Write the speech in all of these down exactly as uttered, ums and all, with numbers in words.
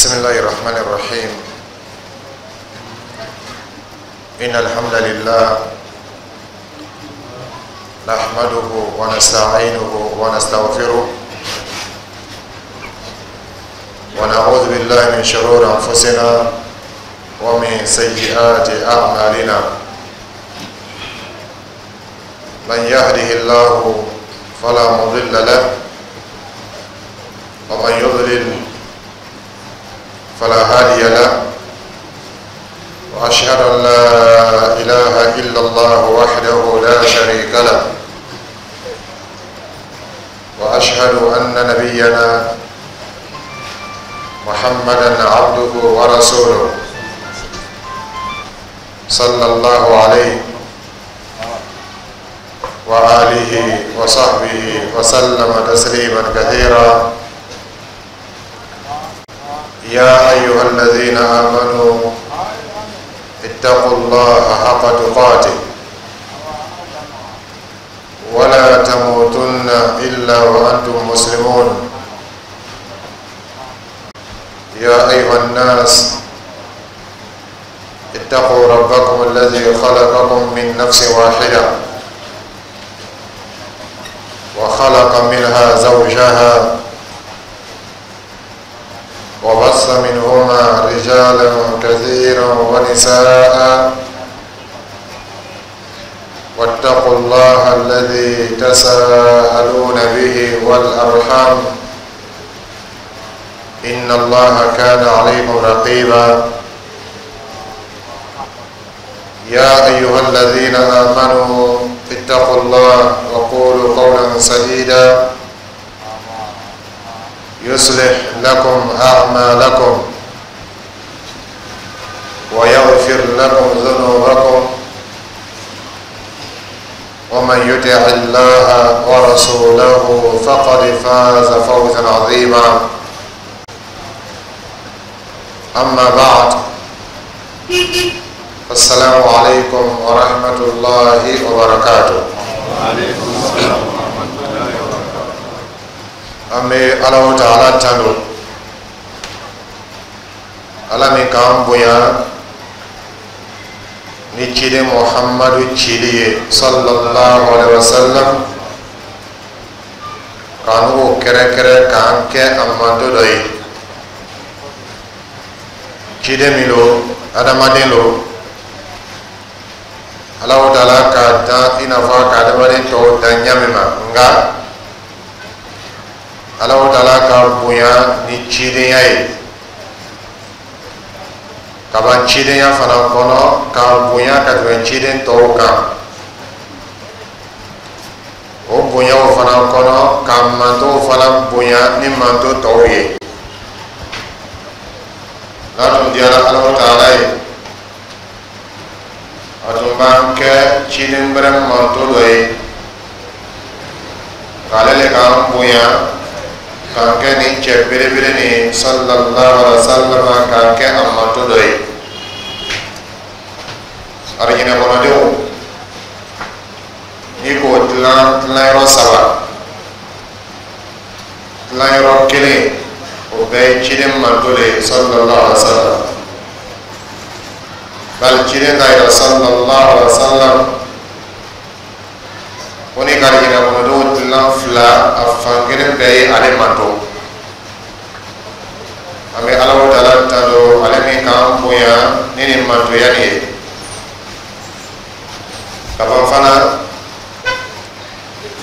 بسم الله الرحمن الرحيم. إن الحمد لله نحمده ونستعينه ونستغفره ونعوذ بالله من شرور أنفسنا ومن سيئات أعمالنا. من يهده الله فلا مضل له ومن يضلل فلا هادي له، وأشهد أن لا إله إلا الله وحده لا شريك له، وأشهد أن نبينا محمدا عبده ورسوله صلى الله عليه وآله وصحبه وسلم تسليما كثيرا. يا أيها الذين آمنوا اتقوا الله حق تقاته ولا تموتن إلا وأنتم مسلمون. يا أيها الناس اتقوا ربكم الذي خلقكم من نفس واحدة وخلق منها زوجها وبث منهما رجالا كثيرا ونساء، واتقوا الله الذي تساءلون به والأرحام إن الله كان عليكم رقيبا. يا أيها الذين آمنوا اتقوا الله وقولوا قولا سديدا يصلح لكم أعمالكم ويغفر لكم ذنوبكم، ومن يطع الله ورسوله فقد فاز فوزا عظيما. أما بعد، السلام عليكم ورحمة الله وبركاته. وعليكم السلام ورحمة الله وبركاته. An bɛ Alahu Taala tanu, Ala min k'an bonya ni ciden Muhammadu cili ye sallallahu alaihi wasallam, k'an n'o kɛrɛnkɛrɛn k'an kɛ a manto dɔ ye. Ciden min don, adamaden don, Alahu Taala k'a dan i n'a fɔ ka adamaden tɔw dan ɲa min ma, nka Alahu Taala ka bonya ni cidenya ye kaban cidenya fana kɔnɔ, k'a bonya ka tɛmɛ ciden tɔw kan. O bonyaw fana kɔnɔ, ka mantow fana bonya ni manto tɔw ye. N'a tun diyara Alahu Taala ye, a tun b'an kɛ ciden wɛrɛ manto dɔ ye, k'ale le k'an bonya k'an kɛ nin cɛ belebele nin sallallahu alaihi wa sallam, k'an kɛ a manto dɔ ye. Arijinɛ kɔnɔdenw, n'i k'o tilan tilanyɔrɔ saba, tilanyɔrɔ kelen o bɛɛ ye ciden manto de ye sallallahu alaihi wa sallam. Bali ciden k'a yira sallallahu alaihi wa sallam ko ni ka arijinɛ kɔnɔdenw tilan fila, a fan kelen bɛɛ ye ale manto. An bɛ Alahu Taala tando, ale min k'an bonya ni nin mantoya nin ye. Ka ban fana,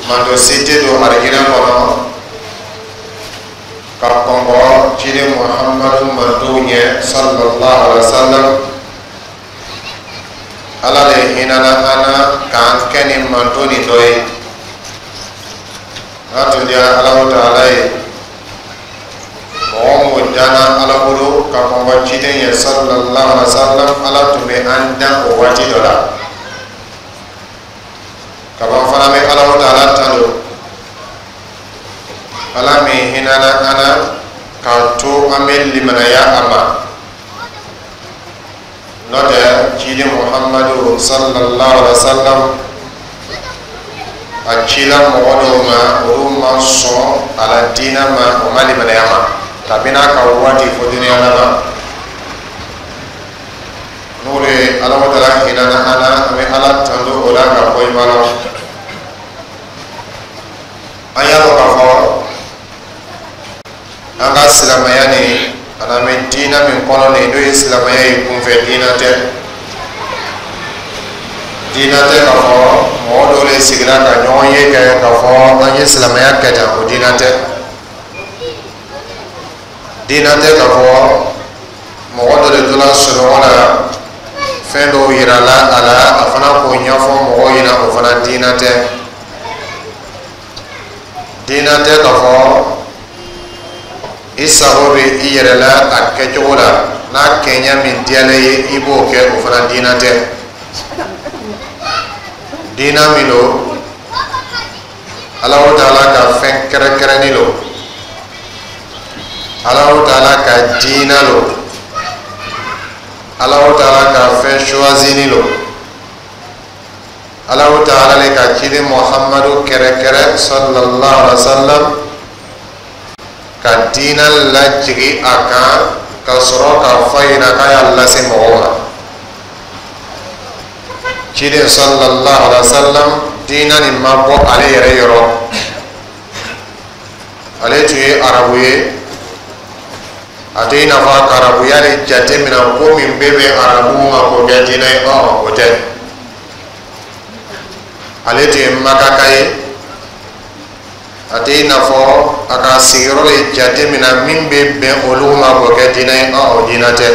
manto si tɛ don arijinɛ kɔnɔ ka kɔnkɔ ciden Muhammadu mantow ɲɛ sallallahu alaihi wa sallam. Ala de hinɛna an na k'an kɛ nin manto nin dɔ ye. N'a tun diyara Alahu Taala ye, mɔgɔ mun danna Ala bolo ka kɔnkɔ ciden ye sallallahu alaihi wa sallam, Ala tun bɛ an dan o waati dɔ la. Kaban fana bɛ Alahu Taala tando, Ala min hinɛna an na k'a to an bɛ limanaya a ma. N'o tɛ, ciden Muhammadu sallallahu alaihi wa sallam, a cila mɔgɔ dɔw ma, olu ma sɔn a la diinɛ ma, o ma limanaya ma. Kabini a ka waati fo duniya laban, n'o de ye Alahu Taala hinɛna an na, an bɛ Ala tando o la ka fɔ i ma la. An y'a dɔn k'a fɔ an ka silamɛya nin, ani an bɛ diinɛ min kɔnɔ nin, n'o ye silamɛya ye, kunfɛ diinɛ tɛ. Diinɛ tɛ k'a fɔ mɔgɔ dɔw de sigira ka ɲɔgɔn ye kɛ k'a fɔ an ye silamɛya kɛ tan, o diinɛ tɛ. Diinɛ tɛ k'a fɔ mɔgɔ dɔ de tora sunɔgɔ la, fɛn dɔw yirala a la, a fana k'o ɲɛfɔ mɔgɔw ɲɛna, o fana diinɛ tɛ. Diinɛ tɛ k'a fɔ i sago bɛ i yɛrɛ la a kɛcogo la, n'a kɛɲɛ min diyalen ye, i b'o kɛ, o fana diinɛ tɛ. Diinɛ min don, Alahu Taala ka fɛn kɛrɛnkɛrɛnnin don, Alahu Taala ka diinɛ don, Alahu Taala ka fɛn choisini don, Alahu Taala le ka ciden Muhammadu kɛrɛkɛrɛ sallallahu alaihi wa sallam ka diinɛ lajigi a kan, ka sɔrɔ k'a fɔ a ɲɛna k'a y'a lase mɔgɔw ma. Ciden sallallahu alaihi wa sallam, diinɛ nin ma bɔ ale yɛrɛ yɔrɔ. Ale tun ye arabu ye, a tɛ i n'a fɔ a ka arabuya de jate minɛ ko min bɛ bɛn arabu ma k'o kɛ diinɛ ye, ɔn, o tɛ. Ale tun ye makaka ye, a tɛ i n'a fɔ a ka sigiyɔrɔ de jate minɛ min bɛ bɛn olu ma k'o kɛ diinɛ ye, ɔn, o diinɛ tɛ.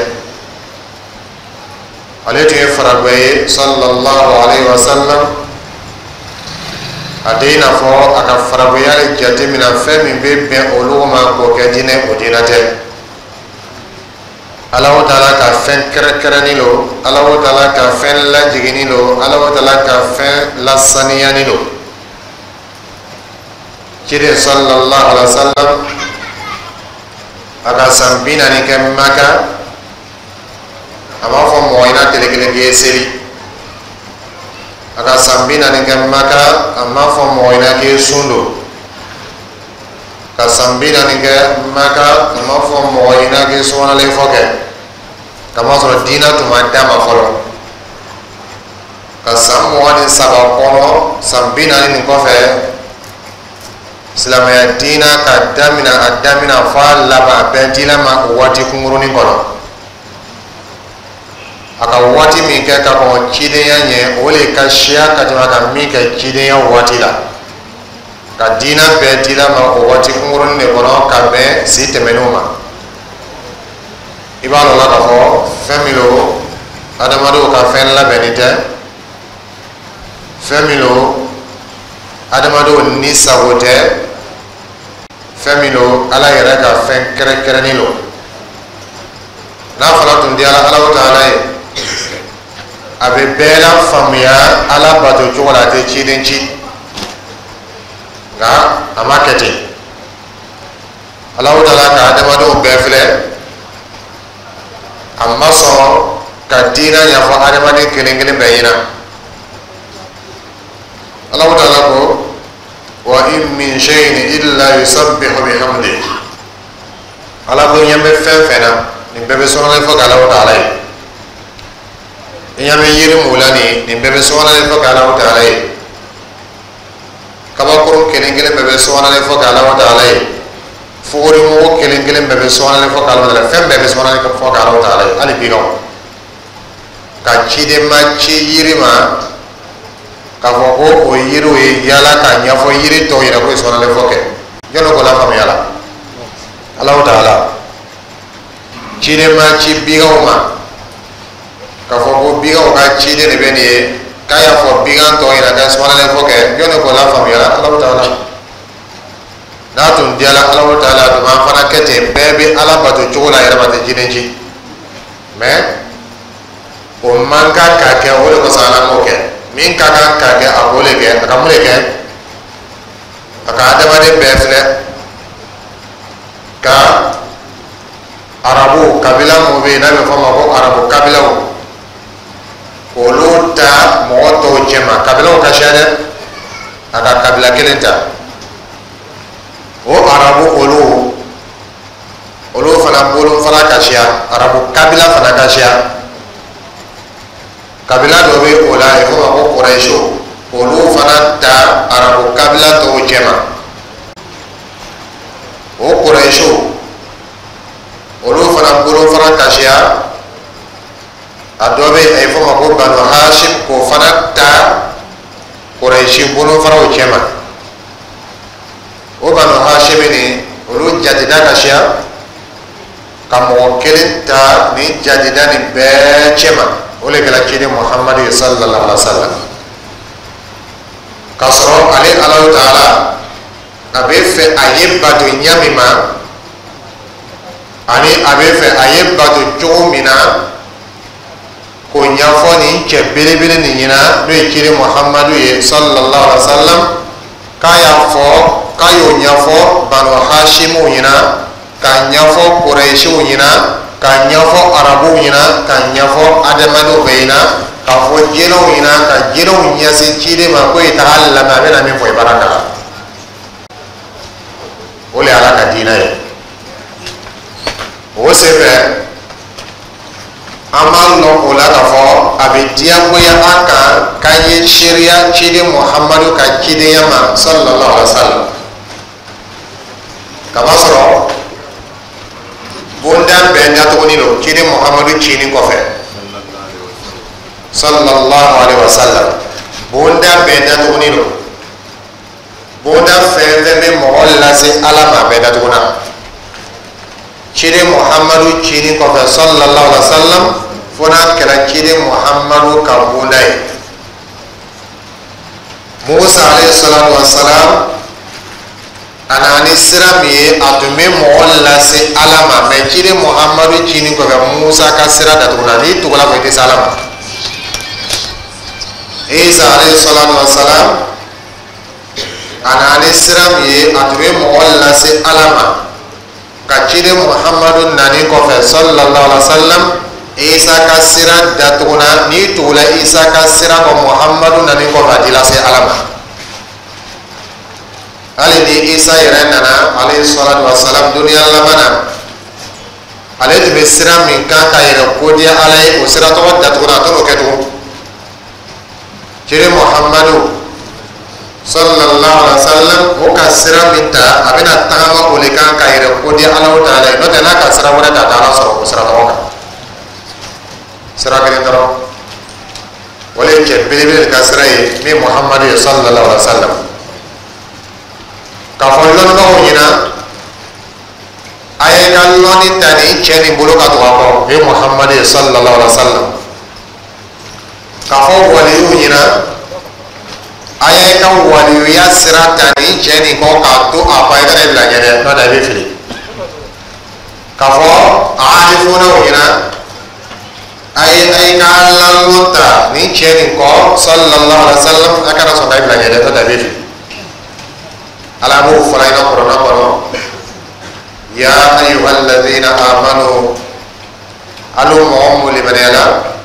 Ale tun ye faragwɛ ye sallallahu alaihi wa sallam, a tɛ i n'a fɔ a ka faragwɛya de jate minɛ fɛn min bɛ bɛn olu ma k'o kɛ diinɛ, o diinɛ tɛ. Alahu Taala ka fɛn kɛrɛnkɛrɛnnin don, Alahu Taala ka fɛn lajiginni don, Alahu Taala ka fɛn lasaniyani don. Ciden sallallahu alaihi wa sallam, a ka san bi naani kɛ Maka, a b'a fɔ mɔgɔ ɲɛna tile kelen k'i ye seli. A ka san bi naani kɛ Maka, a m'a fɔ mɔgɔ ɲɛna k'i ye sun don. Ka san bi naani kɛ Maka, a m'a fɔ mɔgɔ ɲɛna k'i ye subanalen fɔ kɛ, kamasɔrɔ diinɛ tun ma d'a ma fɔlɔ. Ka san mugan ni saba kɔnɔ, san bi naani nin kɔfɛ, silamɛya diinɛ ka daminɛ, a daminɛ fɔ a laban, a bɛɛ dila ma o waati kunkurunin kɔnɔ. A ka waati min kɛ ka kɔn cidenya ɲɛ, o le ka siya ka tɛmɛ a ka min kɛ cidenya waati la. Ka diinɛ bɛɛ dila ma o waati kunkurunin de kɔnɔ, ka bɛn si tɛmɛnenw ma. I b'a dɔn la k'a fɔ fɛn min don, adamadenw ka fɛn labɛnni tɛ, fɛn min don, adamadenw ni sago tɛ, fɛn min don, Ala yɛrɛ ka fɛn kɛrɛnkɛrɛnnin don. N'a fana tun diyara Alahu Taala ye, a bɛ bɛɛ la faamuya Ala bato cogo la, a tɛ ciden ci, nka a ma kɛ ten. Alahu Taala ka adamadenw bɛɛ filɛ, a ma sɔn ka diinɛ ɲɛfɔ adamaden kelen kelen bɛɛ ɲɛna. Alahu Taala ko: wa in min shay'in illa yusabbihu bihamdihi. Ala ko ɲɛ bɛ fɛn fɛn na, nin bɛɛ bɛ sɔnalen fɔ k'Alahu Taala ye. I ɲɛ bɛ yiri mun la nin, nin bɛɛ bɛ sɔnalen fɔ k'Alahu Taala ye. Kabakurun kelen kelen bɛɛ bɛ sɔnalen fɔ k'Alahu Taala ye. Fugurimugu kelen kelen bɛɛ bɛ sɔnalen fɔ k'Alahu Taala ye. Fɛn bɛɛ bɛ sɔnalen fɔ k'Alahu Taala ye, hali biganw. Ka ciden ma ci yiri ma k'a fɔ ko o yiriw ye yala k'a ɲɛfɔ yiri tɔw yɛrɛ ko ye sɔnalen fɔ kɛ, jɔnni k'o lafaamuya la? Alahu Taala. Ciden ma ci biganw ma k'a fɔ ko biganw ka ciden de bɛ nin ye, k'a y'a fɔ bigan tɔw ɲɛna k'a sɔnalen fɔ kɛ, jɔnni k'o lafaamuya la? Alahu Taala. N'a tun diyara Alahu Taala, a tun b'an fana kɛ ten, bɛɛ bɛ Ala bato cogo la, a yɛrɛ ma tɛ ciden ci. Mɛ o man kan ka kɛ, o de kosɔn Ala m'o kɛ. Min ka kan ka kɛ, a k'o de kɛ. A ka mun de kɛ? A ka adamaden bɛɛ filɛ, ka arabu kabila mun bɛ yen n'a bɛ fɔ o ma ko arabu kabilaw, olu ta mɔgɔ tɔw cɛma. Kabilaw ka siya dɛ, a ka kabila kelen ta, o arabu olu. Olu fana bolofara ka siya, arabu kabila fana ka siya. Kabila dɔ bɛ o la, a bɛ f'o ma ko Kurɛsiw. Olu fana ta arabu kabila tɔw cɛma. O Kurɛsiw, olu fana bolofara ka siya. A dɔ bɛ yen, a bɛ f'o ma ko Banu Hashim, k'o fana ta Kurɛsi bolofaraw cɛma. O Banu Hashim nin, olu jateda ka siya, ka mɔgɔ kelen ta nin jateda nin bɛɛ cɛma. O le kɛra ciden Muhamadu ye sallallahu alaihi wa sallam. K'a sɔrɔ ale Alahu taala a bɛ fɛ a ye bato ɲa min ma, ani a bɛ fɛ a ye bato cogo min na, k'o ɲɛfɔ nin cɛ belebele nin ɲɛna, n'o ye ciden Muhamadu ye sallallahu alaihi wa sallam, k'a y'a fɔ k'a y'o ɲɛfɔ Banu Hashimuw ɲɛna, k'a ɲɛfɔ Kurɛsiw ɲɛna, k'a ɲɛfɔ arabuw ɲɛna, k'a ɲɛfɔ adamadenw bɛɛ ɲɛna, k'a fɔ jinɛw ɲɛna, ka jinɛw ɲɛsin ciden ma ko i taga lamɛn, a bɛna min fɔ, i b'ala kalan. O le ye Ala ka diinɛ ye. O senfɛ, an b'a lɔn o la k'a fɔ a bɛ diyagoya an kan k'an ye seereya ciden Muhamadu ka cidenya ma sallallahu alaihi wa sallam, kamasɔrɔ bonda bɛɛ datuguni don ciden Muhamadu cinin kɔfɛ sallallahu alaihi wa sallam. Bonda bɛɛ datuguni don. Bonda fɛn fɛn bɛ mɔgɔ lase Ala ma, a bɛɛ datuguna ciden Muhamadu cinin kɔfɛ sallallahu alaihi wa sallam, fo n'a kɛra ciden Muhamadu ka bonda ye. Musa alayhi salatu wa salam, a nana ni sira min ye, a tun bɛ mɔgɔ lase Ala ma, mɛ ciden Muhamadu cinin kɔfɛ, Musa ka sira datuguna. N'i tugula kɔ, i tɛ se Ala ma. Isa alayhi salatu wa salam, a nana ni sira min ye, a tun bɛ mɔgɔ lase Ala ma, ka ciden Muhamadu nani kɔfɛ sallallahu alaihi wa sallam, Isa ka sira datuguna. N'i tugula Isa ka sira kɔ Muhamadu nani kɔfɛ, a t'i lase Ala ma. Hali ni Isa yɛrɛ nana alayhi salatu wa salam duniya laban na, ale tun bɛ sira min kan ka yɛrɛ kodiya Ala ye, o sira tɔgɔ datuguna, a t'o kɛ tugun. Ciden Muhamadu sallallahu alaihi wa sallam, o ka sira min ta, a bɛna tagama o de kan ka yɛrɛ kodiya Ala taala ye. N'o tɛ, n'a ka sira wɛrɛ ta, a tɛ Ala sɔrɔ o sira tɔgɔ kan. Sira kelen dɔrɔn, o le ye cɛ belebele ka sira ye, min Muhamadu ye sallallahu alaihi wa sallam. K'a fɔ lɔnnibagaw ɲɛna, a ye ka lɔnni ta nin cɛ nin bolo ka tugu a kɔ, o ye Muhamadu ye sallallahu alaihi wa sallam. K'a fɔ waliyuw ɲɛna, a ye ka waliyuya sira ta nin cɛ nin kɔ k'a to a kɔ, i kana i bila ɲɛ dɛ, n'o tɛ i bɛ fili. K'a fɔ arifunaw ɲɛna, a ye a ye ka lalɔn ta nin cɛ nin kɔ sallallahu alaihi wa sallam, a kana sɔn ka i bila ɲɛ dɛ, n'o tɛ i bɛ fili. Ala b'o fɔra ɲɛna kuranɛ kɔnɔ: ya ayyuhalladhina amanu, alu mɔgɔ mun limaniyala.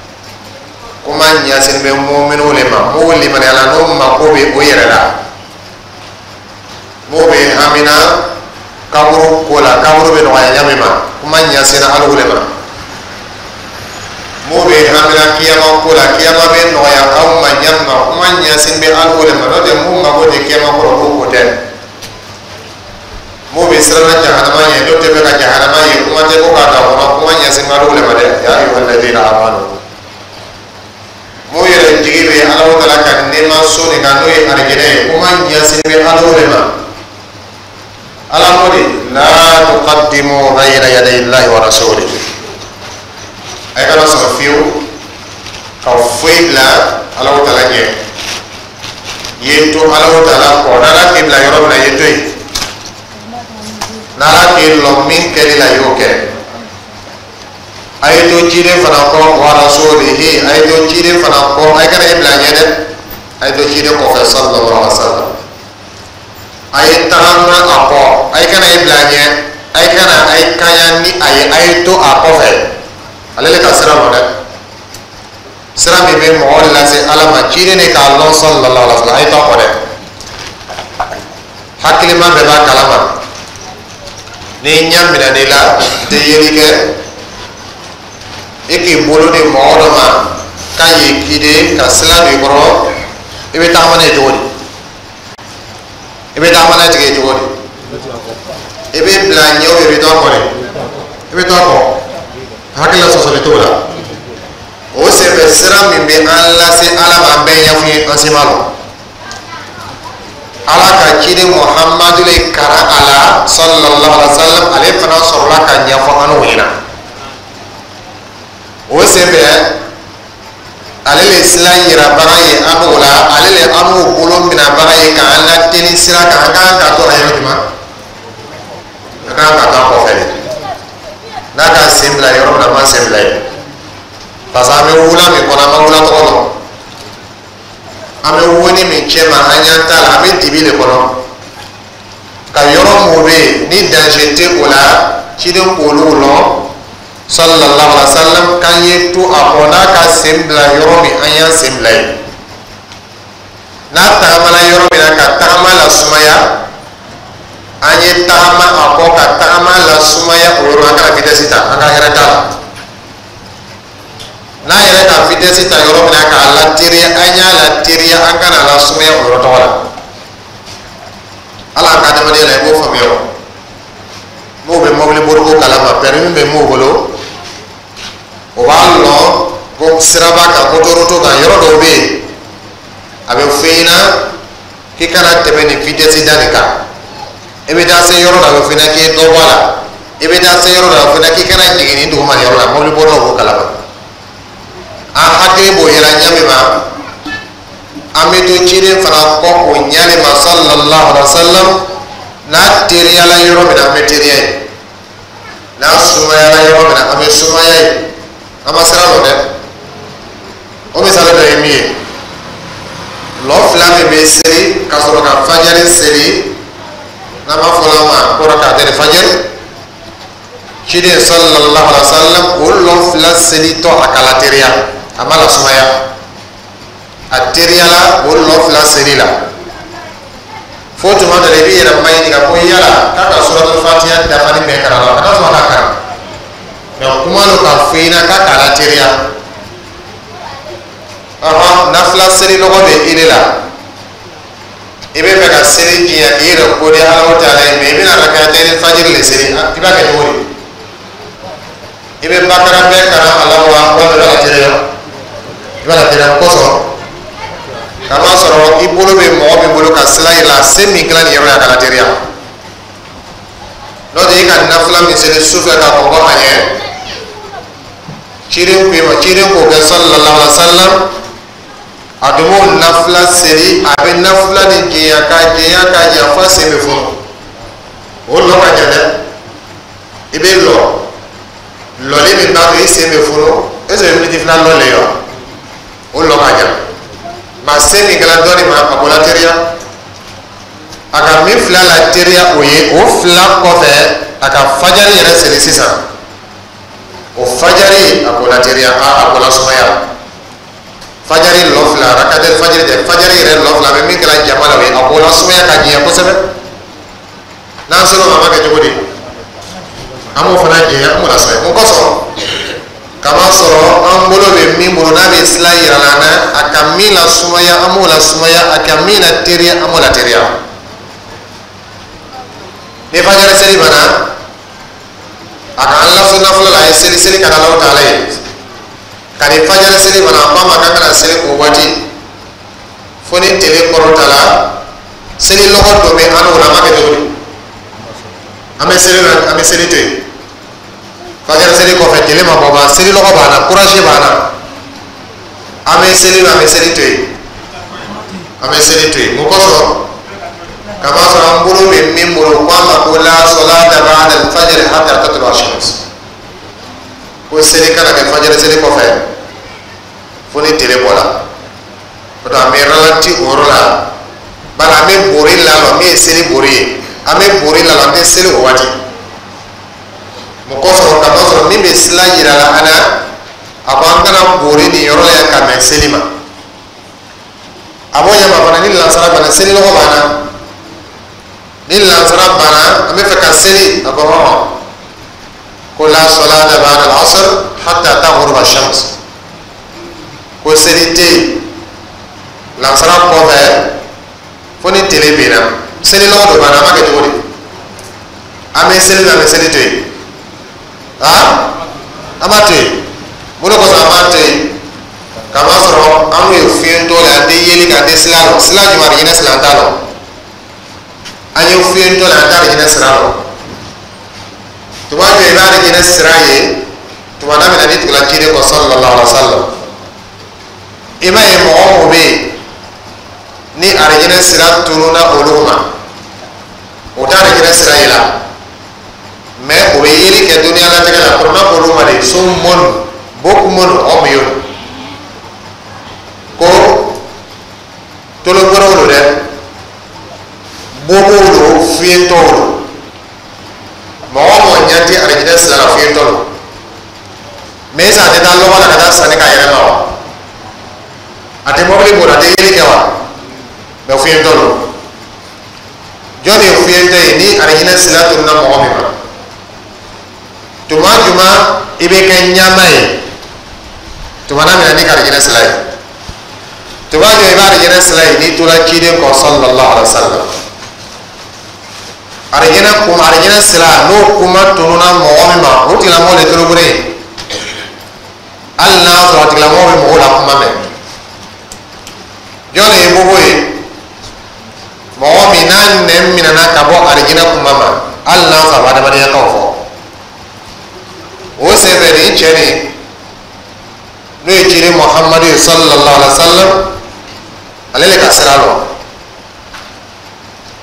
Kuma ɲɛsin bɛ muminiw le ma. M'o limaniyala, n'o mako bɛ o yɛrɛ la, m'o bɛ hamina kaburu ko la, kaburu bɛ nɔgɔya ɲa min ma, kuma ɲɛsinna alu le ma. M'o bɛ hamina kiyama ko la, kiyama bɛ nɔgɔya aw ma ɲa min ma, kuma ɲɛsin bɛ alu le ma. N'o tɛ, mun mako tɛ kiyama ko la, olu ko tɛ. M'o bɛ siranna jahanama ɲɛ, n'o tɛ fɛ ka jahanama ye, kuma tɛ ko k'a ta kɔnɔ, kuma ɲɛsin bɛ alu le ma dɛ. Ya ayyuhalladhina amanu, mun yɛrɛ jigi bɛ Ala taala ka nɛɛma so nin kan, n'o ye arijinɛ ye, kuma ɲɛsin bɛ Ala de ma. Ala ko de: la tuqaddimu bayna yaday Allahi wa rasulihi. A kana sɔn fiyewu ka foyi bila Ala taala ɲɛ. I ye to Ala taala kɔ. N'Ala k'i bila yɔrɔ min na, i ye to yen. N'Ala k'i lɔ min kɛli la, i y'o kɛ. A ye to ciden fana kɔ, wa rasulihi, a ye to ciden fana kɔ. A ye kana i bila ɲɛ dɛ, a ye to ciden kɔfɛ sallallahu alaihi wa sallam. A ye tagama a kɔ, a ye kana i bila ɲɛ, a ye kana a ye kaɲa ni a ye, a ye to a kɔfɛ. Ale le ka sira lɔ dɛ, sira min bɛ mɔgɔ lase Ala ma, ciden de k'a lɔn sallallahu alaihi wa sallam. A ye to a kɔ dɛ. Hakilima bɛɛ b'a kalama. Ni ɲɛ minɛn'i la, i tɛ yeli kɛ, e k'i bolo di mɔgɔ dɔ ma k'a y'i guider ka sira don i kɔrɔ, i bɛ tagama n'a ye cogo di? I bɛ tagama n'a tigi ye cogo di? I bɛ bila ɲɛ o i bɛ to a kɔ de, i bɛ to a kɔ, hakili la sɔsɔli t'o la. O senfɛ, sira min bɛ an lase Ala ma, an bɛɛ ɲɛfɔ ye, an si ma lɔn. Ala ka ciden Muhamadu le karan a la, sallallahu alaihi wa sallam, ale fana sɔrɔla ka ɲɛfɔ an n'o ɲɛna. O senfɛ, ale le sira yirabaga ye an n'o la, ale le an n'o bolo minɛbaga ye k'an lateli sira kan. An kan ka to a yɔrɔ jumɛn? An kan ka to a kɔfɛ de. N'a ka sen bila yɔrɔ min na, an b'an sen bila yen, parce que an bɛ wula min kɔnɔ, an ma wula tɔgɔ dɔn. An bɛ woni min cɛ ma, an ɲɛ t'a la, an bɛ dibi de kɔnɔ. Ka yɔrɔ mun bɛ yen ni danger tɛ o la, ciden k'olu lɔn, sallallahu alaihi wa sallam, k'an ye to a kɔ. N'a ka sen bila yɔrɔ min, an y'an sen bila yen. N'a tagamana yɔrɔ min na, ka tagama la sumaya, an ye tagama a kɔ ka tagama la sumaya o yɔrɔ. An kana vitesse ta, an ka hɛrɛ t'a la. N'a yɛrɛ ka vitesse ta yɔrɔ min na k'a lateriya, an y'a lateriya, an kana la sumaya o yɔrɔ tɔgɔ la. Ala ka adamadenya la, i b'o faamuya. O m'o bɛ mobili boliko kalama, permis bɛ m'o bolo, o b'a lɔn ko siraba kan, autoroute kan, yɔrɔ dɔw bɛ yen, a bɛ f'i ɲɛna k'i kana tɛmɛ nin vitesse da nin kan. I bɛ taa se yɔrɔ dɔ, a bɛ f'i ɲɛna k'i ye dɔ bɔ a la. I bɛ taa se yɔrɔ dɔ, a bɛ f'i ɲɛna k'i kana jigin nin duguma nin yɔrɔ la. Mobili bolilaw b'o kalama. An hakili b'o yɛrɛ ɲɛ min ma, an bɛ to ciden fana kɔ o ɲɛ de ma, sallallahu alaihi wa sallam. N'a teriyala yɔrɔ min na, an bɛ teriya yen. N'a sumayala yɔrɔ min na, an bɛ sumaya yen. An ma sira lɔ dɛ. O misali dɔ ye min ye, lɔ fila min bɛ seli ka sɔrɔ ka fajari seli, n'an b'a fɔ la ma ko rakatɛni fajari, ciden sallallahu alaihi wa sallam, o lɔ fila selitɔ, a kala teriya, a ma la sumaya, a teriyala o lɔ fila seli la. Fo tuma dɔ la, i b'i yɛrɛ maɲininka ko yala k'a ka suratul fatiha dafali bɛɛ kalan la, a ka sɔrɔ a ka kalan mɛ kuma do ka fɔ i ɲɛna k'a k'a la teriya. Ɔhɔn, nafila seli lɔgɔ bɛ i de la, i bɛ fɛ ka seli jiɲɛ k'i yɛrɛ ko di Ala taala ye, mɛ i bɛna rakatɛni fajiri le seli, i b'a kɛ cogo di? I bɛ bakara bɛɛ kalan a la wa, walima i b'a la teriya? I b'a la teriya kosɔn, k'a sɔrɔ i bolo bɛ mɔgɔ min bolo ka sira yira, se min kɛra nin yɔrɔ la, a ka la teriya. N'o tɛ, i ka nafila min seli sufɛ ka kɔn a ɲɛ, ciden ko i ma, ciden k'o kɛ, sallallahu alaihi wa sallam, a dun b'o nafila seli, a bɛ nafila ni jɛnya ka jɛnya ka jɛnya f'a sen bɛ funu. O lɔ ka jan dɛ. I bɛ lɔ, lɔli min b'a to i sen bɛ funu, est ce que miniti fila lɔ le ye wa? O lɔ ka jan. Maa se min kɛra dɔ de ma, a b'o la teriya. A ka min fila la teriya, o ye o fila kɔfɛ, a ka fajari yɛrɛ seli sisan, o fajari, a b'o la teriya, a a b'o la sumaya. Fajari lɔ fila, rakatɛli fajiri tɛ, fajari yɛrɛ lɔ fila, a bɛ min kɛra jama la, o ye a b'o la sumaya ka jɛya kosɛbɛ. N'an sera o ma, an b'a kɛ cogo di? An b'o fana jɛya, an b'o la sumaya. Mun kosɔn? Kama sɔrɔ an bolo bɛ min bolo, n'a bɛ sira yira an na, a ka min la sumaya, an b'o la sumaya, a ka min la teriya, an b'o la teriya. Ni fajari seli banna, a ka an laso nafolo la, a ye seli seli ka na Alahu taala ye. Ka ni fajari seli banna, a ko a ma k'an kana seli o waati fo ni tele kɔrɔta la. Seli lɔgɔ dɔ bɛ an n'o la, an b'a kɛ cogo di? An bɛ seli la, an bɛ seli to yen. Fajari seli kɔfɛ, tele ma bɔ ban, seli lɔgɔ b'an na, courage b'an na, an bɛ seli, an bɛ seli to yen, an bɛ seli to yen. Mun kosɔn? Kama sɔrɔ an bolo bɛ min bolo, ko a ma ko la salata ba'da al-fajr hatta tatlu ash-shams, ko seli kana kɛ fajiri seli kɔfɛ fo ni tele bɔra. O tɔ, an bɛ ralenti o yɔrɔ la, bari an bɛ bori lalɔ min ye seli bori ye, an bɛ bori lalɔ, an tɛ seli o waati. Mun kosɔn? Kama sɔrɔ min bɛ sila yira la an na, a ko an kana bori nin yɔrɔ la yan ka mɛn seli ma. A b'o ɲɛma fana, ni lansara banna, seli lɔgɔ b'an na. Ni lansara banna, an bɛ fɛ ka seli, a ko hɔn ko la salata ba'da al-asr hatta taghruba shams, ko seli tɛ yen lansara kɔfɛ fo ni tele binna. Seli lɔgɔ dɔ banna, an b'a kɛ cogo di? An bɛ seli, an bɛ seli to yen, ah, an b'a to yen. Mun de kosɔn an b'a to yen? Kamasɔrɔ an ye fiyentɔ le, an tɛ yeli kɛ, an tɛ sila lɔn. Sila jumɛn? Arijinɛ sila, an t'a lɔn. An ye fiyentɔ le, an t'a arijinɛ sira lɔn. Tuma jɔ i b'a arijinɛ sira ye? Tuma na min na n'i tugula ciden kɔ sallallahu alaihi wa sallam, i b'a ye mɔgɔ o mɔgɔ bɛ yen ni arijinɛ sira tununa olu ma, o t'a arijinɛ sira ye la, mɛ o bɛ yeli kɛ duniya latigɛ la. Kɔrɔma k'olu ma de summun bukmun umyun, ko tologbɛrɛw don dɛ, bobow don, fiyentɔw don. Mɔgɔ o mɔgɔ ɲɛ tɛ arijinɛ sira la, fiyentɔ don. Mɛ est-ce a tɛ taa lɔgɔ la ka taa sanni k'a yɛrɛ ma wa? A tɛ mɔbili boli, a tɛ yeli kɛ wa? Mɛ fiyentɔ don. Jɔn de ye fiyentɔ ye? Ni arijinɛ sira tununa mɔgɔ min ma, tuma jumɛn i bɛ kɛ ɲama ye? Tuma na min na n'i ka arijinɛ sira ye, tuma jumɛn i b'a arijinɛ sira ye? N'i tora ciden kɔ sallallahu alaihi wa sallam. Arijinɛ kuma, arijinɛ sira n'o kuma tununa mɔgɔ min ma, o tigilamɔgɔ de tolobere ye, hali n'a sɔrɔ a tigilamɔgɔ bɛ mɔgɔw la kuma mɛn. Jɔn de ye bobo ye? Mɔgɔ min n'a nɛn minɛna ka bɔ arijinɛ kuma ma, hali n'a sɔrɔ a bɛ adamadenya kanw fɔ. O senfɛ, nin cɛ nin, n'o ye ciden Muhamadu ye sallallahu alaihi wa sallam, ale le ka sira lɔn.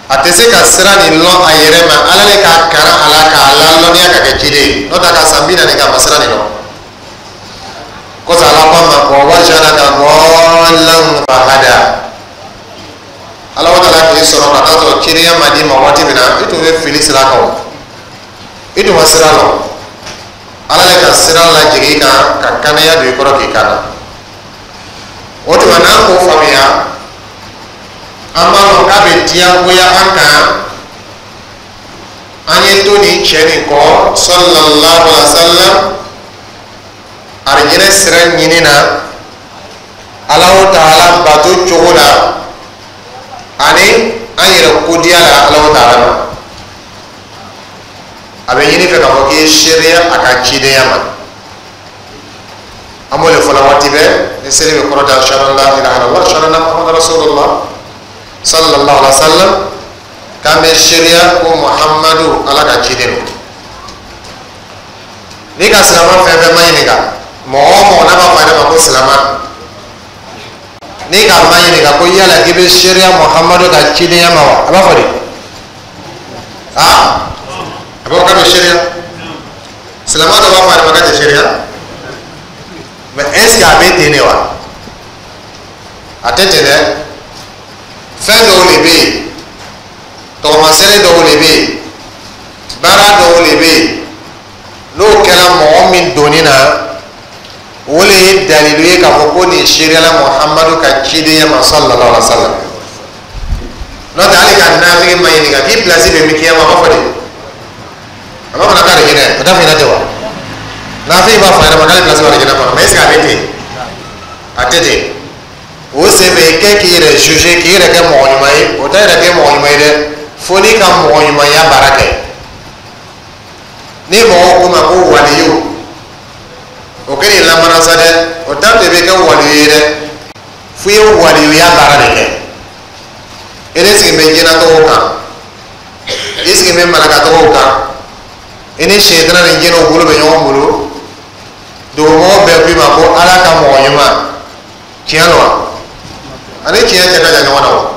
A tɛ se ka sira nin lɔn a yɛrɛ ma, Ala le k'a kalan a la k'a lalɔnniya ka kɛ ciden ye. N'o tɛ, a ka san bi naani kɛ, a ma sira nin lɔn. Kɔsɔn Ala ko a ma ko wajadaka dallan fahada. Ala wa taala k'i sɔrɔ ka taa sɔrɔ cidenya ma d'i ma waati min na, i tun bɛ fili sira kan, o i tun ma sira lɔn. Ala le ka sira lajigin i kan ka kanaya don i kɔrɔ k'i kana. O tuma, n'an k'o faamuya, an b'a dɔn k'a bɛ diyagoya an kan an ye to nin cɛ nin kɔ sallallahu alaihi wa sallam arijinɛ sira ɲini na, Alahu taala bato cogo la, ani an yɛrɛ kodiya la Alahu taala ma. A bɛ ɲini fɛ k'a fɔ k'i ye seereya a ka cidenya ma. An b'o de fɔla waati bɛɛ ni seli bɛ kɔrɔta: ashhadu an la ilaha illallah, ashhadu anna muhammadan rasulullah sallallahu alaihi wa sallam, k'an bɛ seereya ko Muhammadu Ala ka ciden don. N'i ka silama fɛn fɛn ma ɲininka, mɔgɔ o mɔgɔ n'a b'a fɔ a yɛrɛ ma ko silama, n'i k'a ma ɲininka ko yala k'i bɛ seereya Muhammadu ka cidenya ma wa, a b'a fɔ di? Aa, a b'a fɔ k'a bɛ seereya. Silama dɔ b'a fɔ a yɛrɛ ma k'a tɛ seereya, mɛ est ce que a bɛ ten de wa? A tɛ ten dɛ. Fɛn dɔw de bɛ yen, tɔgɔmasɛre dɔw de bɛ yen, baara dɔw de bɛ yen, n'o kɛra mɔgɔ min donni na, o de ye dalilu ye k'a fɔ ko nin seereyala Muhamadu ka cidenya ma sallallahu alaihi wa sallam. N'o tɛ, hali ka nafigi ma ɲininka k'i pilasi bɛ min kiyama, a b'a fɔ de, a b'a fɔ k'ale hinɛ, o t'a fɔ ɲɛna ten wa? Nafigi b'a fɔ a yɛrɛ ma k'ale pilasi b'ale hinɛ kɔnɔ, mɛ est ce que a bɛ ten? A tɛ ten. O senfɛ, i kɛ k'i yɛrɛ juger, k'i yɛrɛ kɛ mɔgɔ ɲuman ye, o t'a yɛrɛ kɛ mɔgɔ ɲuman ye dɛ, fo n'i ka mɔgɔ ɲumanya baara kɛ. Ni mɔgɔw ko ma ko waliyu, o kɛ nin lamana sa dɛ, o t'a to i bɛ kɛ waliyu ye dɛ, fo i ye waliyuya baara de kɛ. E de sigi bɛ jinɛtɔgɔw kan, i sigi bɛ malakatɔgɔw kan, i ni sɛtana ni jinɛw bolo bɛ ɲɔgɔn bolo. Dugumɔgɔ bɛɛ ko i ma ko Ala ka mɔgɔ ɲuman. Tiɲɛ don wa? Ani tiɲɛ cɛ ka jan ɲɔgɔn na o.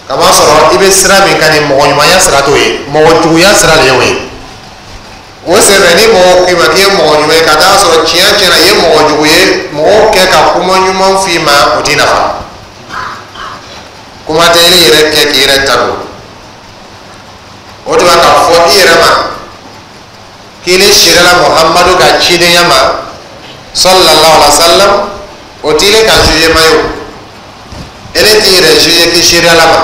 Kamasɔrɔ i bɛ sira min kan, nin mɔgɔ ɲumanya sira t'o ye, mɔgɔ juguya sira de ye o ye. O senfɛ, ni mɔgɔ k'i ma k'i ye mɔgɔ ɲuman ye, ka taa sɔrɔ tiɲɛ tiɲɛna i ye mɔgɔ jugu ye, mɔgɔw kɛ ka kuma ɲuman f'i ma, o t'i nafa. Kuma tɛ i yɛrɛ kɛ k'i yɛrɛ ta don. O tuma, k'a fɔ i yɛrɛ ma k'i ni sirila Muhamadu ka cidenya ma sallallahu alaihi wa sallam, o t'i le ka jugement ye. O ele t'i yɛrɛ juger k'i seereyala ma.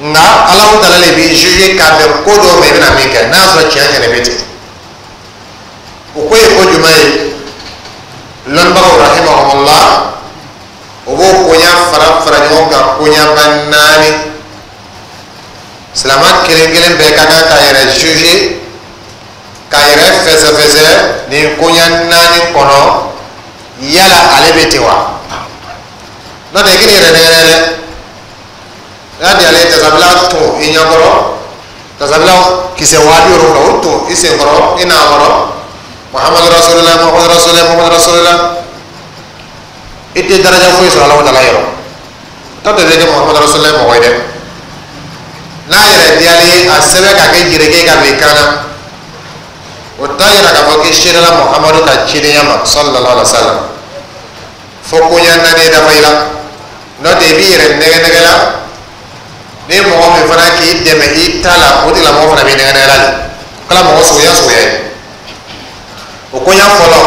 Nka Alahu Taala le b'i juger k'a bɛn ko dɔw ma, i bɛna min kɛ, n'a y'a sɔrɔ tiɲɛ tiɲɛ bɛ ten. O ko ye ko jumɛn ye? Lɔnnibagaw rahimahumullah, o b'o koɲa fara fara ɲɔgɔn kan, koɲaba naani. Silama kelen kelen bɛɛ ka kan k'a yɛrɛ juger, k'a yɛrɛ fɛsɛfɛsɛ nin koɲa naani kɔnɔ, yala ale bɛ ten wa? N'o tɛ, i k'i yɛrɛ nɛgɛ dɛ. N'a di ale ye tasabila tun i ɲɛkɔrɔ, tasabila kisɛ waa bi wolonwula, o tun i senkɔrɔ, i n'a kɔrɔ, Muhammadu Rasulillah, Muhammadu Rasulillah, Muhammadu Rasulillah, i tɛ daraja foyi sɔrɔ Alahu Taala yɔrɔ. Tɔ tɛ kɛ Muhammadu Rasulillah mɔgɔ ye dɛ. N'a yɛrɛ diyalen ye, a sɛbɛn ka kɛ jireke ka bila i kan na, o t'a yira k'a fɔ k'i seerela Muhammadu ka cidenya ma sallallahu alaihi wa sallam. Fo koɲa naani dafa i la, n'o tɛ, i b'i yɛrɛ nɛgɛ nɛgɛ la. Ni mɔgɔ min fana k'i dɛmɛ i ta la, o tigilamɔgɔ fana b'i nɛgɛ nɛgɛ la de, kala mɔgɔ suguya suguya ye. O koɲa fɔlɔ,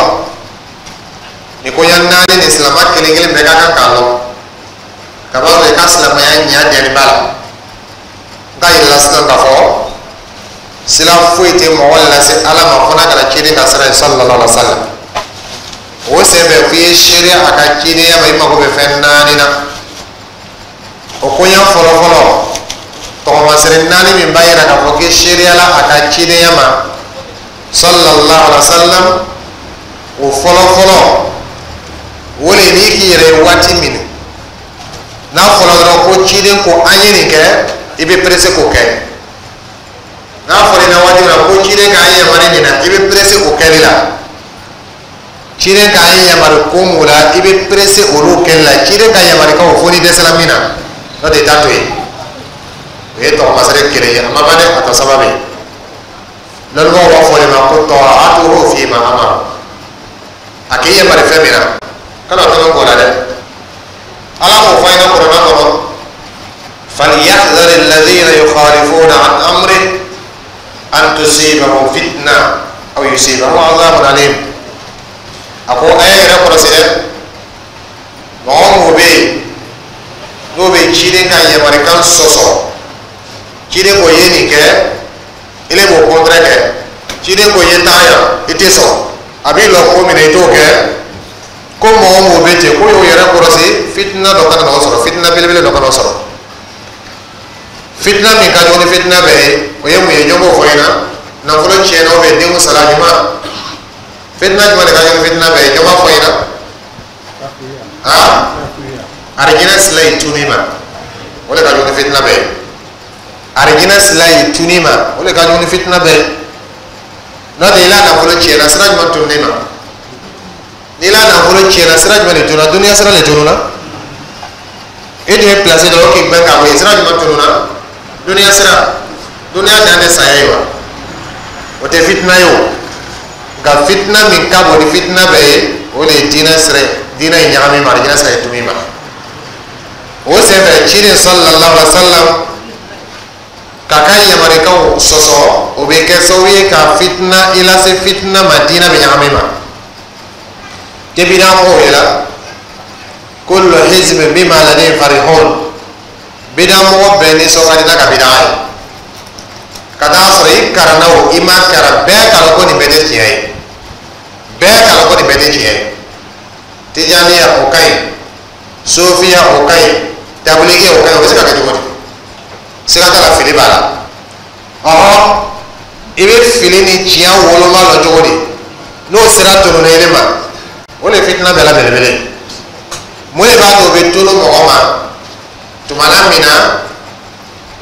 ni koɲa naani ni silama kelen kelen bɛɛ ka kan k'a lɔn ka b'a sɔrɔ i ka silamɛya ɲa diyani b'a la. N k'a yir'i la sisan k'a fɔ sira foyi tɛ mɔgɔ lase Ala ma fo n'a kɛra ciden ka sira ye sallallahu alaihi wa sallam. O senfɛ, f'i ye seereya a ka cidenya ma, i mako bɛ fɛn naani na. O koɲa fɔlɔ fɔlɔ, tɔgɔmasere naani min b'a yira k'a fɔ k'i seereyala a ka cidenya ma sallallahu alaihi wa sallam, o fɔlɔ fɔlɔ, o le n'i k'i yɛrɛ ye waati min n'a fɔra dɔrɔn ko ciden ko an ye nin kɛ, i bɛ pressé k'o kɛ. N'a fɔra i na waati min na ko ciden k'an yamaru nin na, i bɛ pressé o kɛli la. Ciden k'an yamaru ko mun la, i bɛ pressé olu kɛli la. Ciden ka yamarukanw, fo n'i dɛsɛra min na, n'o tɛ, i t'a to yen. O ye tɔgɔmasere kelen ye, a ma ban dɛ, a tɔ saba bɛ yen. Lɔnnibagaw b'a fɔ o de ma ko ta'atuhu fima amara. A k'i yamaru fɛn min na, kana tɔnɔ k'o la dɛ. Ala k'o fɔ an ɲɛna kuranɛ kɔnɔ: falyahdhar alladhina yukhalifuna an amrihi an tusibahum fitna aw yusibahum adhabun alim. A ko a y'a yɛrɛ kɔlɔsi dɛ, mɔgɔ mɔgɔ bɛ yen n'o bɛ ciden ka yamarikan sɔsɔ, ciden ko ye nin kɛ, ile b'o contraire kɛ, ciden ko ye taa yan, i tɛ sɔn, a b'i lɔ ko min na, i t'o kɛ, ko mɔgɔ mɔgɔ bɛ ten, ko y'o yɛrɛ kɔlɔsi, fitina dɔ kana n'o sɔrɔ, fitina belebele dɔ kana o sɔrɔ. Fitina min ka jugu ni fitina bɛɛ ye, o ye mun ye? Jɔn b'o fɔ ɲɛna? Nafolo tiɲɛna ou bien denw sara ɲuman, fitina jumɛn de ka jugu ni fitina bɛɛ ye? Jɔn b'a fɔ ɲɛna? Ah, arijinɛ sila yi tununi ma, o de ka jugu ni fitina bɛɛ ye. Arijinɛ sila yi tununi ma, o de ka jugu ni fitina bɛɛ ye. N'o tɛ, i la nafolo tiɲɛna, sira jumɛn tununi ma? N'i la nafolo tiɲɛna, sira jumɛn de tununa? Duniya sira de tununa. E tun ye place dɔ k'i gbɛn k'a bɔ yen, sira jumɛn tununa? Duniya sira. Duniya dan tɛ saya ye wa? O tɛ fitina ye o. Nka fitina min ka bon ni fitina bɛɛ ye, o de ye diinɛ sira ye, diinɛ ye ɲagami ma, arijinɛ sira ye tumi ma. O senfɛ, ciden sallallahu alaihi wa sallam ka ka yamarikanw sɔsɔ, o bɛ kɛ sababu ye ka fitina i lase fitina ma, diinɛ bɛ ɲagami ma. Tebida mɔgɔw ye la, kullu hizbin bima ladayhim farihun. Bida mɔgɔ bɛɛ nisɔn ka di n'a ka bida ye, ka taa sɔrɔ i karanna o, i ma karan, bɛɛ kalan ko nin bɛɛ tɛ tiɲɛ ye, bɛɛ kalan ko nin bɛɛ tɛ tiɲɛ ye. Tijaniya, o ka ɲi. Sofiya, o ka ɲi. Tabuliki, o ka ɲi. O bɛ se ka kɛ cogo di? Siga t'a la, fili b'a la. Ɔhɔn, i bɛ fili ni tiɲɛ woloma lɔ cogo di n'o sira tununa i ma? O de ye fitina bɛɛ la belebele. Mun de b'a to o bɛ tunu mɔgɔ ma? Tuma la min na,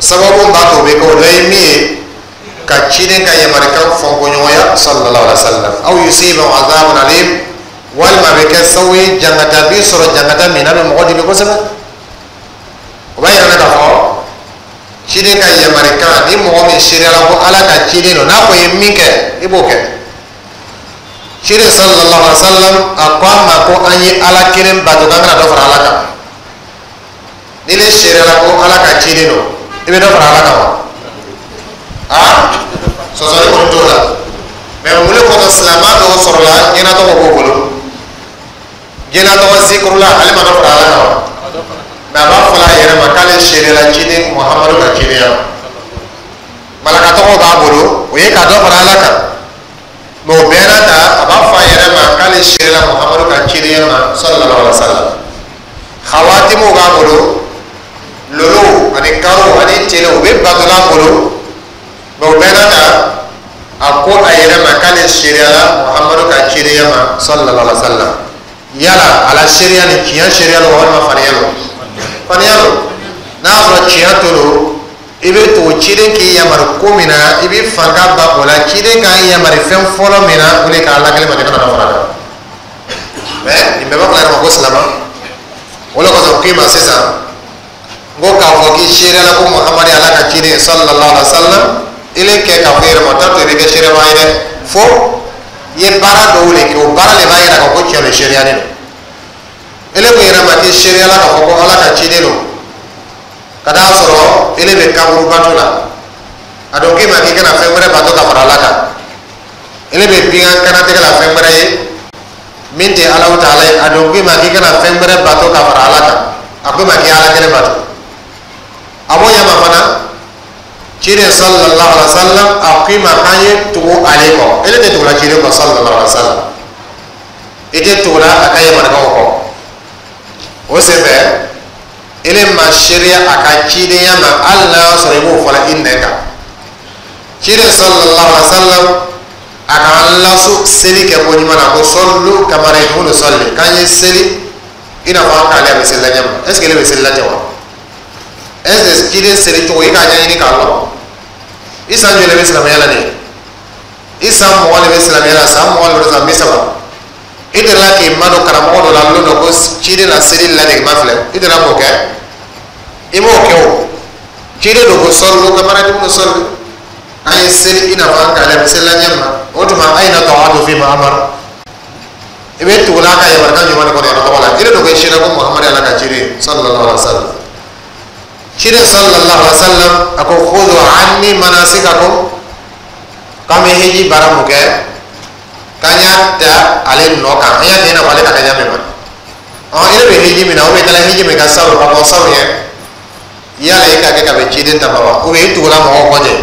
sababu b'a to o bɛ kɛ, o dɔ ye min ye, ka ciden ka yamarikan fɔnkɔɲɔgɔnya sallallahu alaihi wa sallam. Aw yusibahum azabun alim, walima a bɛ kɛ sababu ye jangata b'i sɔrɔ, jangata min n'a bɛ mɔgɔ dimi kosɛbɛ. O b'a yira k'a fɔ ciden ka yamarikan, ni mɔgɔ min seereyala ko Ala ka ciden don, n'a ko ye min kɛ, i b'o kɛ. Ciden sallallahu alaihi wa sallam, a ko an ma ko an ye Ala kelen bato, k'an kana dɔ fara Ala kan. Ni ne seereyala ko Ala ka ciden don, i bɛ dɔ fara Ala kan wa? Aa, sɔsɔli kɔni t'o la. Mɛ mun de kɔsɔn silamɛ dɔw sɔrɔla ɲɛnatɔgɔ b'o bolo, jɛnatɔgɔ zikurula, ale ma dɔ fara Ala kan wa? Mais a b'a fɔ a yɛrɛ ma k'ale seerela ciden Muhamadu ka cidenya ma. Malaka tɔgɔ b'a bolo, o ye ka dɔ fara Ala kan. Mais o bɛɛ n'a ta, a b'a fɔ a yɛrɛ ma k'ale seerela Muhamadu ka cidenya ma, sallallahu alaihi wa sallam. Xawatimuw b'a bolo, lolo ani karo ani tele, u bɛ batola bolo. Mais o bɛɛ n'a ta, a ko a yɛrɛ ma k'ale seereyala Muhamadu ka cidenya ma, sallallahu alaihi wa sallam. Yala a la seereya ni tiɲɛ seereya lo walima faniya lo? Faniya lo. N'a y'a sɔrɔ tiɲɛ to lo, i bɛ tugu ciden k'i yamaru ko min na, i bɛ fanga ba o la. Ciden k'an yamaru fɛn fɔlɔ min na, o de k'a lakali ma, kana fara kan. Mais nin bɛɛ b'a fɔ a yɛrɛ ma ko silama. O de kosɔn k'i ma sisan n ko k'a fɔ k'i seereyala ko Muhamadu ye Ala ka ciden ye, sallallahu alaihi wa sallam, i le kɛ k'a fɔ i yɛrɛ ma, o t'a to i bɛ kɛ seeremaa ye dɛ. Fo i ye baara dɔw de kɛ, o baara de b'a yira k'a fɔ ko tiɲɛ don, seereyalen don. Ele ko yɛrɛ ma k'i seereyala k'a fɔ ko Ala ka ciden don, ka taa sɔrɔ ele bɛ kaburu bato la. A dɔn k'i ma k'i kana fɛn wɛrɛ bato ka fara Ala kan. Ele bɛ bingan kanatigɛ la fɛn wɛrɛ ye min tɛ Alahu taala ye. A dɔn k'i ma k'i kana fɛn wɛrɛ bato ka fara Ala kan. A ko i ma k'i Ala kelen bato. A b'o ɲɛ ma fana, ciden sallallahu alaihi wa sallam, a ko i ma k'an ye tugu ale kɔ. Ele tɛ tugula ciden kɔ, sallallahu alaihi wa sallam. I tɛ tugula a ka yamarukanw kɔ. O senfɛ, ele ma seereya a ka cidenya ma, hali n'a y'a sɔrɔ i b'o fɔla i nɛn kan. Ciden sallallahu alaihi wa sallam, a k'an laso seli kɛ ko ɲuman na, ko sallu kama ra'aytumuni usalli, k'an ye seli i n'a fɔ an k'ale a bɛ seli la ɲɛ ma. Est ce que ele bɛ seli la ten wa? Est ce que ciden seli cogo, i k'a ɲɛɲini k'a lɔn? I san joli bɛ silamɛya la nin ye? I san mugan de bɛ silamɛya la, san mugan de bɛ, san bi saba, i delila k'i madon karamɔgɔ dɔ la lon dɔ ko ciden la seli ladege ma filɛ? I delila k'o kɛ? I m'o kɛ. O ciden do ko sallu kama ra'aytumuni usalli, an ye seli i n'a fɔ an k'ale a bɛ seli la ɲɛ ma. O tuma, ayna ta'atu fi ma amara? I bɛ tugu n'a ka yamarukan ɲuman de kɔnɔ yɛrɛ tɔgɔ la. I de don ko i sera ko Muhamadu Ala ka ciden, sallallahu alaihi wa sallam. Ciden sallallahu alaihi wa sallam, a ko khudhu anni manasikakum, k'an bɛ hiji baara mun kɛ, k'an y'a ta ale nɔ kan, an y'a kɛ i n'a fɔ ale ka kɛ ɲa min ma. Ɔn, i bɛ hiji min na, o bɛ taara hiji min ka salon ka bɔ salon yɛ, yala i ka kɛ ka bɛn ciden ta ma wa? Ou bien i tugula mɔgɔw kɔ ten?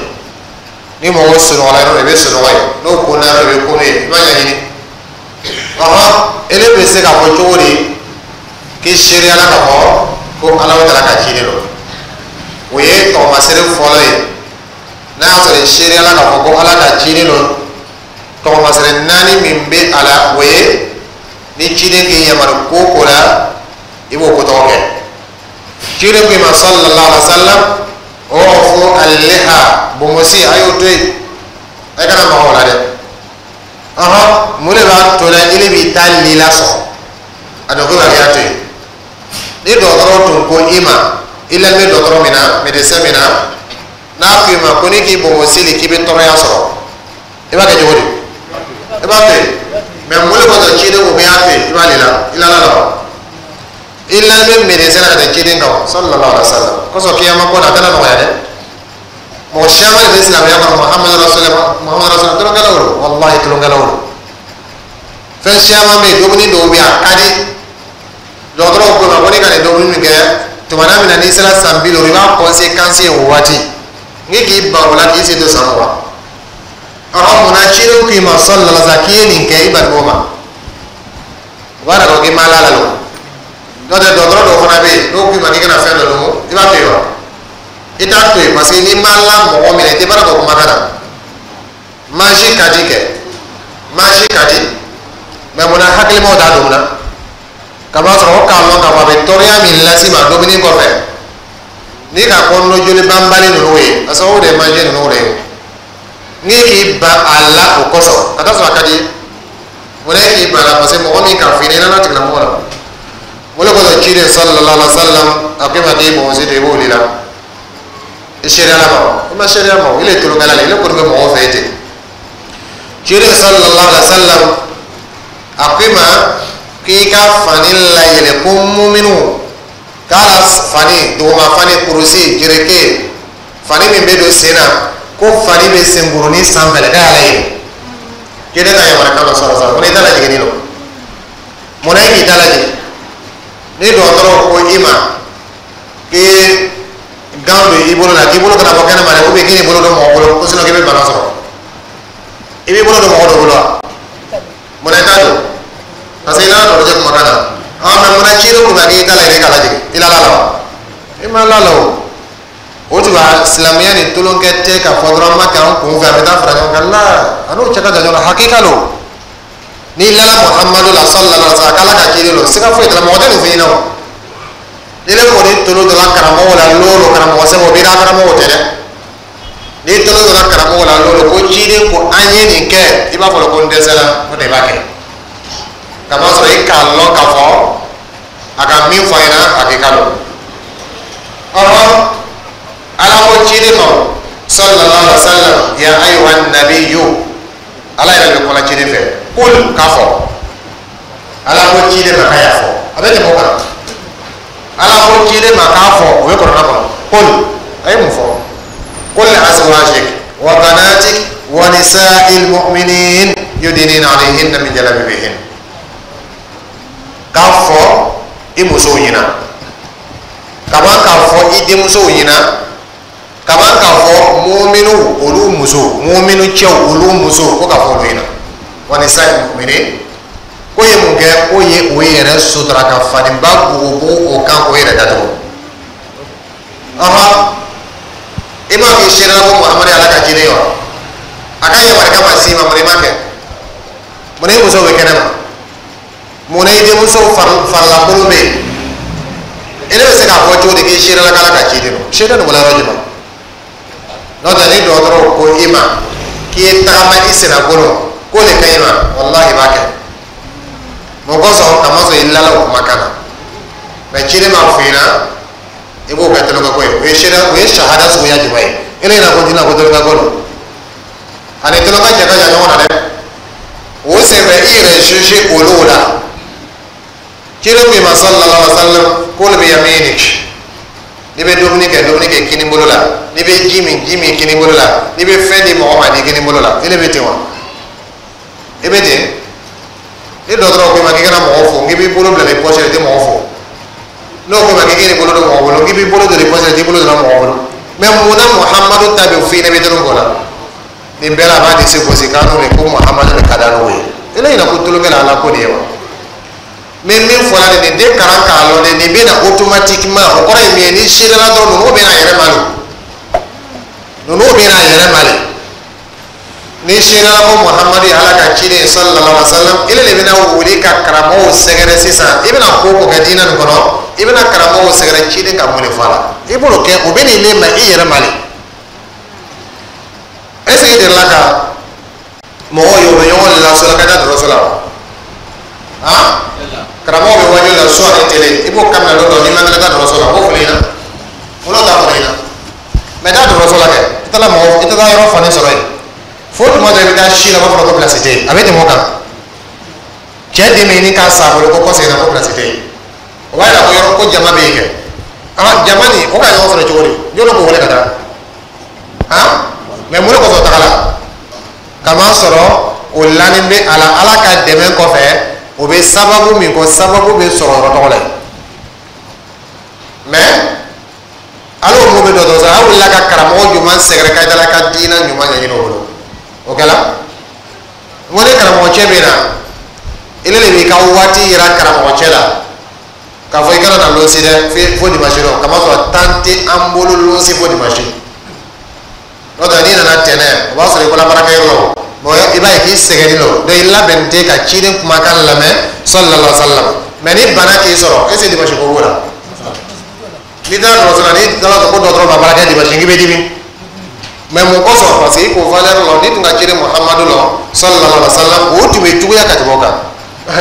Ni mɔgɔw sunɔgɔla yɔrɔ, i bɛ sunɔgɔ yen, n'o kunna yɔrɔ, i bɛ kunu yen. I b'a ɲɛɲini. Ɔhɔn, ele bɛ se k'a fɔ cogo di k'i seereyala k'a fɔ ko Ala taala ka ciden don? O ye tɔgɔmasere fɔlɔ ye. N'a y'a sɔrɔ i seereyala k'a fɔ ko Ala ka ciden don, tɔgɔmasere naani min bɛ a la, o ye ni ciden k'i yamaru ko o ko la, i b'o ko tɔgɔ kɛ. Ciden ko i ma, sallallahu alaihi wa sallam, u'fu al-liha, bonbosi, a y'o to yen, a kana maga o la dɛ. Ɔhɔn, mun de b'a to la ile b'i ta lila sɔrɔ? A dɔn ko b'a kɛ a to yen. Ni dɔgɔtɔrɔ tun ko i ma, i lamɛn dɔgɔtɔrɔ min na, médecin min na, n'a ko i ma ko n'i k'i bonbosi li k'i bɛ tɔɔrɔya sɔrɔ, i b'a kɛ cogo di? I b'a to yen. Mais mun de kosɔn ciden ko k'i y'a to yen, i b'a lila i la la wa? I lamɛn médecin na ka tɛmɛ ciden kan, sallallahu alaihi wa sallam. Kosɔn kiyama ko na, a tɛna nɔgɔya dɛ. Mɔgɔ caman de bɛ silamɛya kɔnɔ, Muhamadu rasulillah, Muhamadu rasulillah, tulonkɛlaw don, walahi tulonkɛlaw don. Fɛn caman bɛ yen, dumuni dɔw bɛ yen, a ka di. Dɔgɔtɔrɔw ko ma ko n'i ka nin dumuni min kɛ, tumana min na n'i sera san bi duuru, i b'a conséquence ye o waati. N k'i ban o la k'i sen to san mugan. Ɔhɔn, munna cidenw k'i ma, sallallahu alaihi wa sallam, k'i ye nin kɛ, i bali o ma? O b'a yira k'a fɔ k'i ma la la lo. N'o tɛ, dɔgɔtɔrɔ dɔw fana bɛ yen, n'o k'i ma k'i kana fɛn dɔ dun, i b'a to yen wa? I t'a to yen, parce que n'i ma la mɔgɔ min na, i tɛ baara kɛ o kumakan na. Mansi ka di kɛ, mansi ka di. Mais munna hakilimaw t'a dɔn na? Ka b'a sɔrɔ o k'a lɔn k'a fɔ a bɛ tɔɔrɔya min las'i ma dumuni kɔfɛ, n'i ka kɔnɔna joli banbali ninnu ye, a sababu de ye manje ninnu de ye. N'i k'i ban a la o kosɔn, ka taa sɔrɔ a ka di, munna e k'i ban a la? Parce que mɔgɔ min k'a f'i ɲɛna, i nana tigilamɔgɔ la. O de kosɔn ciden sallallahu alaihi wa sallam, a ko i ma k'i bonbosi to, i b'o de la. I seereyala ma wa? I ma seereya ma o, ile ye tulonkɛla le, ile kɔni bɛ mɔgɔw fɛ ten. Ciden sallallahu alaihi wa sallam, a ko i ma k'i ka fani layɛlɛ, ko muminu k'a la fani, duguma fani, kurusi, jereke, fani min bɛ don sen na, ko fani bɛ senkurunin sanfɛ dɛ, k'a y'a layɛlɛ. Ciden ka yamarukan dɔ sɔrɔ sa, ko n'i ta lajigin don, munna e k'i ta lajigin? Ni dɔgɔtɔrɔw ko i ma K'i gant don i bolo la, k'i bolo kana bɔ kɛnɛ ma dɛ, ou bien k'i bolo don mɔgɔ bolo ko, sinon k'i bɛ bana sɔrɔ. I b'i bolo don mɔgɔ dɔ bolo wa? Munna i t'a don? Parce que i nana dɔgɔtɔrɔcɛ kumakan na. Ah, mais munna ciden ko k'i t'a la yɛrɛ k'a lajigin? I la la wa? I ma la la o. O tuma, silamɛya ni tolonkɛ tɛ k'a fɔ dɔrɔn an ma kɛ an kun fɛ, an bɛ taa fara ɲɔgɔn kan la. A n'o cɛ ka jan ɲɔgɔn na, hakika lo. N'i lala Muhamadu la sallallahu alaihi wa sallam, k'Ala ka ciden don, siga foyi t'a la, mɔgɔ tɛ nin f'i ɲɛna o. Ni ne kɔni tolo donna karamɔgɔ la lolo, karamɔgɔ sɛbɛn o b'i ka karamɔgɔ tɛ dɛ. N'i tolo donna karamɔgɔ la lolo ko ciden ko an ye nin kɛ, i b'a fɔ ko n dɛsɛla, o de b'a kɛ. Kamasɔrɔ i k'a lɔn k'a fɔ a ka min fɔ a ɲɛna, hakika don. Ɔhɔ, Ala ko ciden ma sallallahu alaihi wa sallam: ya ayyuhan nabiyyu. Ala yɛrɛ bɛ kɔnɔ ciden fɛ, kul, k'a fɔ. Ala ko ciden ma k'a y'a fɔ, a bɛ tɛmɛ o kan. Ala ko ciden ma k'a fɔ, o bɛ kɔrɔna kɔnɔ. Kul, a ye mun fɔ? Qul li azwajik wa banatik wa nisa'il mu'minin yudnina alayhinna min jalabibihin. K'a fɔ i musow ɲɛna, kaban k'a fɔ i denmusow ɲɛna, kaban k'a fɔ muminu olu muso, muminu cɛw olu muso, ko k'a fɔ olu ɲɛna, wa nisa'il mu'minin. Ko ye mun kɛ? Ko ye o yɛrɛ sutura ka faniba bugubugu o kan k'o yɛrɛ datugu. Ɔhɔn, i m'a k'i seere ko Muhamadu ye Ala ka ciden ye wa? A ka yamarukan ma s'i ma, mun i m'a kɛ? Mun i musow bɛ kɛnɛ ma? Mun na i denmuso farilakolon bɛ yen? E bɛ se k'a fɔ cogo di k'i seere la k'Ala ka ciden don? Seere nin bɔra yɔrɔ jumɛn? N'o tɛ, ni dɔgɔtɔrɔw ko i ma k'i ye tagama i sennakolon k'o de ka ɲi ma, walahi i b'a kɛ. Mun kosɔn? Kamasɔrɔ i lala o kumakan na. Mɛ ciden b'a f'i ɲɛna, i b'o kɛ tolonkɛ ko ye. O ye seere, o ye sahada suguya jumɛn ye? E ne ɲɛna ko diinɛ ko tolonkɛ ko don, ani tolonkɛ cɛ ka jan ɲɔgɔn na dɛ. O senfɛ, i yɛrɛ juge olu la. Ciden ko i ma sallallahu alaihi wa sallam: kul bi yaminik. N'i bɛ dumuni kɛ, dumuni kɛ kini bolo la. N'i bɛ ji min, ji min kini bolo la. N'i bɛ fɛn di mɔgɔ ma, di kini bolo la. E de bɛ ten wa? I bɛ ten? Ni dɔgɔtɔrɔ ko i ma k'i kana mɔgɔ fo, k'i b'i bolo bila i poche la, i tɛ mɔgɔ fo. N'o ko ma k'i k'i bolo don mɔgɔ bolo, k'i b'i bolo don i poche la, i t'i bolo don mɔgɔ bolo. Mɛ munna Muhamadu ta bɛ f'i ɲɛna, i bɛ tɛnɛ k'o la? Nin bɛɛ la, a b'a disi gosi k'an n'o de ko Muhamadu de ka d'an n'o ye. E ɲɛna ko tulonkɛ la Ala ko de ye wa? Mɛ min fɔra nin, nin den kalan k'a lɔn dɛ, nin bɛ na automatiquement. O kɔrɔ ye min ye? Ni seerela dɔrɔn, ninnu bɛ na a yɛrɛ ma de, ninnu bɛ na a yɛrɛ ma de. Ni seerela ko Muhamadu ye Ala ka ciden ye sallallahu alaihi wa sallam, ele de bɛna wuli ka karamɔgɔw sɛgɛrɛ sisan. I bɛna ko o ko kɛ diinɛ nin kɔnɔ, i bɛna karamɔgɔw sɛgɛrɛ, ciden ka mun de fɔ a la, i b'o kɛ. O bɛ nin le ma i yɛrɛ ma de. Est ce que i delila ka mɔgɔw ye, u bɛ ɲɔgɔn lasɔrɔ ka taa dɔgɔtɔrɔso la wa? Han, karamɔgɔ bɛ wajuli la su ani tele, i b'o kabila don dɔ, n'i ma kɛnɛ, taa dɔgɔtɔrɔso la, o b'o fɔ i ɲɛna. Olu t'a fɔ i ɲɛna. Mɛ taa dɔgɔtɔrɔso la kɛ, i taara mɔgɔ, i tɛ taa yɔrɔ fani sɔrɔ yen fo tuma dɔ i bɛ taa si la, u b'a fɔ ko place tɛ yen. A bɛ tɛmɛ o kan, cɛ den bɛ ɲini k'a sa a bolo ko kɔseginna ko place tɛ yen. O b'a yira ko yɔrɔ ko jama bɛ yen kɛ. Ah, jama nin o ka ɲɔgɔn sɔrɔ cogo di? Jɔn k'o wele ka taa? Han, mɛ mun de kosɔn o tagala? Kama sɔrɔ o lanin bɛ a la. Ala ka dɛmɛ kɔfɛ, o bɛ sababu min kɔ, sababu bɛ sɔrɔ yɔrɔ tɔgɔ la yen. Mɛ ala o mun bɛ dɔgɔtɔrɔso la, a wulila ka karamɔgɔ ɲuman sɛgɛrɛ ka dala ka diinɛ ɲuman ɲɛɲini o bolo. O kɛla n ko ni karamɔgɔ cɛ bɛ na, ele de b'i ka waati yira karamɔgɔ cɛ la k'a fɔ i kana na lonsi dɛ fo dimanche dɔ, kamasɔrɔ temps tɛ an bolo lonsi fo dimanche. N'o tɛ, n'i nana tɛnɛ, o b'a sɔrɔ i bɔra baarakɛyɔrɔ la o. Bon, i b'a ye k'i sɛgɛnnen don, donc i labɛnnen tɛ ka ciden kumakan lamɛn sallallahu alaihi wa sallam. Mɛ ni bana k'i sɔrɔ, est ce que dimanche ko b'o la? N'i taara dɔgɔtɔrɔso la, n'i taara ko dɔgɔtɔrɔ ma baara kɛ dimanche, k'i bɛ dimi. Mɛ mun kosɔn? Parce que i k'o valeur lɔ. N'i tun ka ciden Muhamadu lɔ sallallahu alaihi wa sallam, o tun bɛ juguya ka tɛmɛ o kan.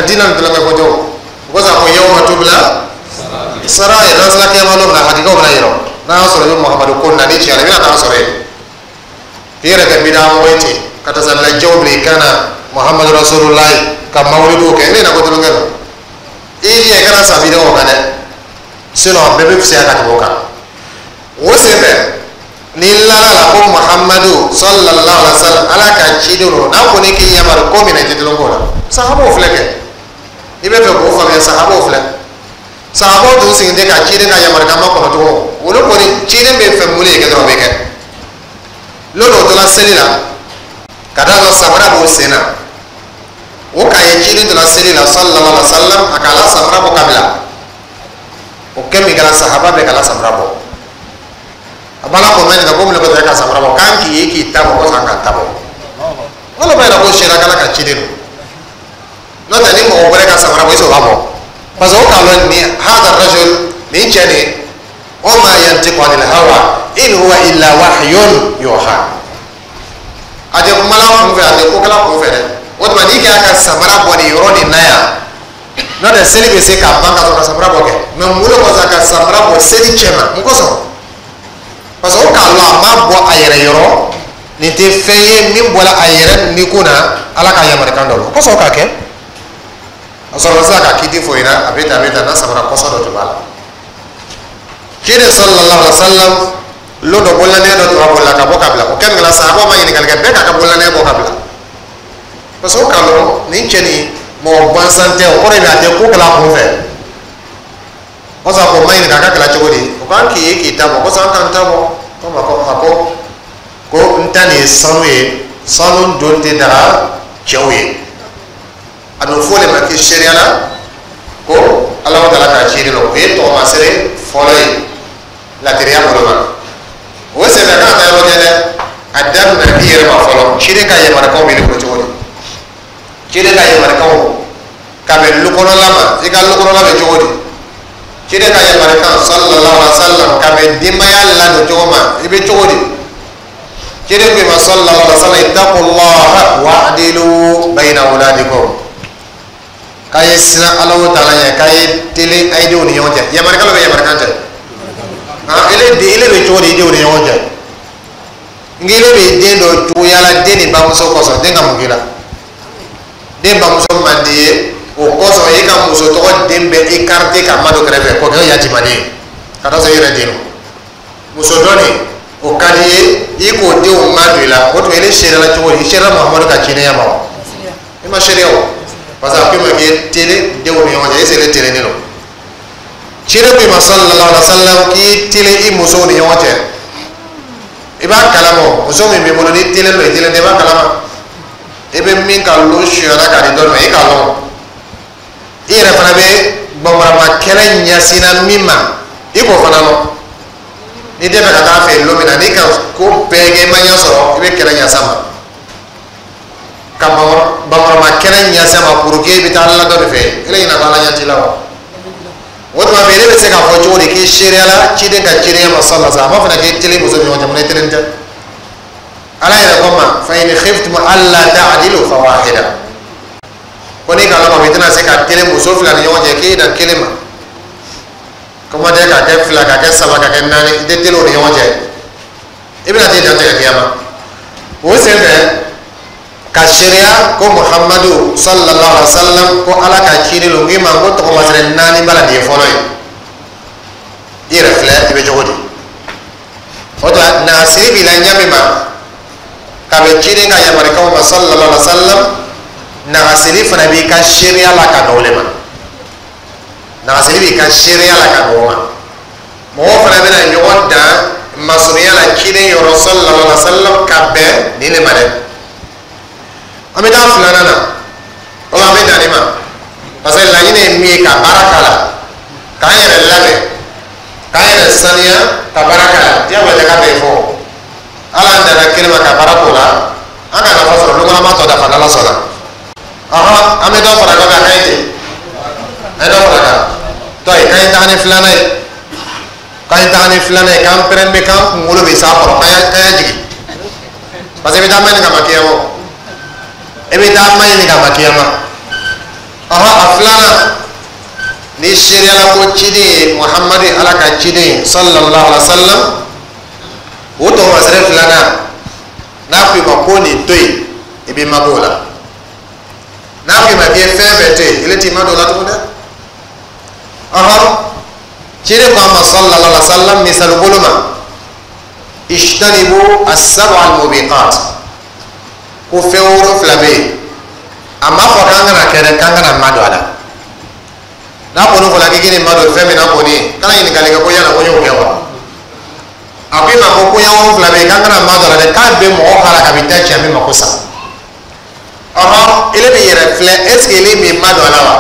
Diinɛ nin tulonkɛ ko tɛ. O o kosɔn, a ko yawma tubla sarair, n'an sera kiyama don min na, hakikaw bɛna yira. N'a y'a sɔrɔ i bɛ Muhamadu ko na ni tiɲɛ la, i bɛna taa sɔrɔ yen k'i yɛrɛ kɛ bidaa mɔgɔ ye ten, ka tasalilajɛw bila i kan na, Muhamadu rasulullahi, ka mawuludiw kɛ. E bɛ na ko tulonkɛ don. I jija i kana sa bidaa o kan dɛ, sinon bɛɛ bɛ fisaya ka tɛmɛ o kan. O senfɛ, ni lala la ko Muhamadu sallallahu alaihi wa sallam Ala ka ciden don, n'a ko ne k'i yamaru ko min na, i tɛ tulon k'o la. Sahabaw filɛ kɛ, i bɛ fɛ k'o faamuya, sahabaw filɛ. Sahabaw tun sigilen tɛ ka ciden ka yamarukan makɔnɔ tugun. Olu kɔni, ciden bɛ fɛn mun de kɛ dɔrɔn, o bɛ kɛ. Lon dɔ tora seli la, ka taa sɔrɔ samara b'o sen na. O k'a ye ciden tora seli la sallallahu alaihi wa sallam, a k'a la samara bɔ ka bila. O kɛ min kɛra, sahaba bɛɛ k'a la samara bɔ. A b'a la ko mɛ nin ko mun de ko ka samara bɔ k'an k'i ye k'i ta bɔ ko san k'an ta bɔ. Wala b'a yira ko sariya kala ka ciden don. N'o tɛ, ni mɔgɔ wɛrɛ ka samara bɔ, est-ce que o b'a bɔ? Parce que o k'a lɔn nin hada rajul, nin cɛ nin, wa ma yantiqu anil hawa in huwa illa wahyun yuha. A tɛ kumala kun fɛ, a tɛ kokɛla kun fɛ dɛ. O tuma n'i kɛra ka samara bɔ nin yɔrɔ nin na yan, n'o tɛ, seli bɛ se ka ban ka sɔrɔ ka samara bɔ kɛ. Mɛ mun de kosɔn ka samara bɔ seli cɛ ma? Mun kosɔn? Parce que o k'a lɔn a ma bɔ a yɛrɛ yɔrɔ, nin tɛ fɛn ye min bɔra a yɛrɛ ni kun na, Ala ka yamarukan dɔ la. O kosɔn o k'a kɛ. A sɔrɔ sisan ka kiti fɔ ɲɛna, a bɛ tan, a bɛ tan, n'a samara kɔsɔ dɔ tun b'a la. Ciden sallallahu alaihi wa sallam, lon dɔ, bololanɛgɛ dɔ tun b'a bolo la ka bɔ ka bila. O kɛ min kɛra, sahabaw ma ɲininkali kɛ, bɛɛ k'a ka bololanɛgɛ bɔ ka bila, parce que o k'a lɔn nin cɛ nin mɔgɔ gansan tɛ. O kɔrɔ ye a tɛ ko kɛla a kun fɛ. O sɔrɔ ko ma ɲininka a ka kɛla cogo di. O k'an k'i ye k'i ta bɔ, ko sɔn an k'an ta bɔ. Ko ma ko a ko ko n ta nin ye sanu ye, sanu don tɛ daga cɛw ye. A bɛ fɔ o de ma k'i seereya la ko Ala taala k'a ci de la. O ye tɔgɔmasere fɔlɔ ye ladiriya bolo ma. O senfɛ k'a taa yɔrɔ jan dɛ, a daminɛ i yɛrɛ ma fɔlɔ. Ciden ka yamarukanw b'i bolo cogo di? Ciden ka yamarukanw ka bɛn lukɔnɔla ma, i ka lukɔnɔla bɛ cogo di? Ciden ka yamarukan sallallahu alaihi wa sallam ka bɛn denbaya ladon cogo ma, i bɛ cogo di? Ciden ko i ma sallallahu alaihi wa sallam: ittaqullaha wa'dilu bayna awladikum. K'a ye siran Ala taala ɲɛ, k'a ye telen a ye denw ni ɲɔgɔn cɛ. Yamarukan bɛ yamarukan cɛ, han, ele den, ele bɛ cogo di i denw ni ɲɔgɔn cɛ? Nka ele bɛ den dɔ cogoya la, den ni bamuso kosɔn, den ka mun k'i la? Den bamuso man di ye, o kosɔn e ka muso tɔgɔ den bɛ écarté ka madon kɛrɛfɛ k'o kɛ yatimaden ye, ka taa sɔrɔ i yɛrɛ den don. Muso dɔ nin, o ka di ye, i k'o denw ma don i la. O tuma ele seerela cogo di? I seerela Muhamadu ka cidenya ma wa? I ma seereya o, parce que a ko i ma k'i ye telen denw ni ɲɔgɔn cɛ. Est-ce que ele telennen don? Ciden ko i ma sallallahu alaihi wa sallam k'i telen i musow ni ɲɔgɔn cɛ. I b'a kalama, muso min b'i bolo, n'i telen don, i telen tɛ, i b'a kalama. I bɛ min ka lo suyana k'a di dɔ ma, i k'a lɔn. I yɛrɛ fana bɛ bamaramma kɛlɛ ɲɛsinna min ma, i k'o fana lɔn. N'i tɛ fɛ ka taa fɛ yen lon min na, n'i ka ko bɛɛ kɛ, i ma ɲɛ sɔrɔ, i bɛ kɛlɛ ɲɛs'a ma, ka bamaramma kɛlɛ ɲɛs'a ma pour que i bɛ taa ala dɔ de fɛ. E ɲinɛ ko Ala ɲɛ t'i la wa? O tuma fɛ, e bɛ se k'a fɔ cogo di k'i seereya la ciden ka cidenya ma sallallahu alaihi wa sallam? A b'a fana k'i telen muso ni ɲɔgɔn cɛ, mun na i telen tɛ? Ala yɛrɛ ko ma: fa in khiftum alla ta'dilu fawahida. Ko n'i ka lɔn i tɛna se ka telen muso fila ni ɲɔgɔn cɛ, k'i dan kelen ma. Kuma tɛ ka kɛ fila, ka kɛ saba, ka kɛ naani, i tɛ telen o ni ɲɔgɔn cɛ, i bɛna t'i dantigɛ kiyama. O senfɛ ka seereya ko Muhamadu sallallahu alaihi wa sallam ko Ala ka ciden don, k'i ma ko tɔgɔmasere naani b'a la, nin ye fɔlɔ ye. I yɛrɛ filɛ, i bɛ cogo di? O tuma nasiri b'i la ɲɛ min ma ka bɛn ciden ka yamarukanw ma sallallahu alaihi wa sallam, nagasiri fana b'i ka seereya la ka bɛn o de ma. Nagasiri b'i ka seereya la ka bɛn o ma. Mɔgɔw fana bɛna ɲɔgɔn dan masurunya la ciden yɔrɔ sallallahu alaihi wa sallam ka bɛn nin de ma dɛ. An bɛ taa filanan na, o la an bɛ dan nin ma, parce que laɲini ye min ye, ka baara k'a la, k'an yɛrɛ labɛn, k'an yɛrɛ saniya, ka baara k'a la. Diyagoya tɛ k'a bɛɛ fɔ. Ala an danna kelen ma ka baara k'o la, an ka nafa sɔrɔ lukɔnɔma tɔ dafa n'Ala sɔnna. Ɔhɔn, an bɛ dɔ fara dɔ kan, a ka ɲi ten, an ye dɔ fara kan tɔ ye. K'an ye taga ni filanan ye, k'an ye taga ni filanan ye, k'an pɛrɛn bɛ, k'an kunkolo bɛ s'a kɔrɔ, k'an y'a k'an y'a jigin, parce que i bɛ taa ma ɲini ka ma kiyama, i bɛ taa ma ɲini ka ma kiyama. Ɔhɔn, a filanan, ni seereyala ko ciden ye Muhamadu ye, Ala ka ciden ye sallallahu alaihi wa sallam, o tɔgɔmasere filanan, n'a ko i ma ko nin to yen, i b'i mabɔ o la. N'a ko i ma k'i ye fɛn fɛn to yen, ele t'i ma don o la tugun dɛ. Ɔhɔn, ciden ko a ma sallallahu alaihi wa sallam, misali bolo ma: ijtanibu as-sab'a al-mubiqat. Ko fɛn wolonfila bɛ yen, a ma fɔ k'an kana kɛ dɛ, k'an kana ma don a la. N'a kɔni fɔra k'i k'i ma don fɛn min na kɔni, kana ɲininkali kɛ ko yala ko n y'o kɛ wa. A ko i ma ko koɲɛ wolonfila bɛ yen k'an kana ma don a la dɛ, k'a bɛ mɔgɔ halaka, a bɛ taa cɛ min ma ko sa. Ɔhɔn, ele bɛ yɛrɛ filɛ, est ce que ele min ma don a la wa?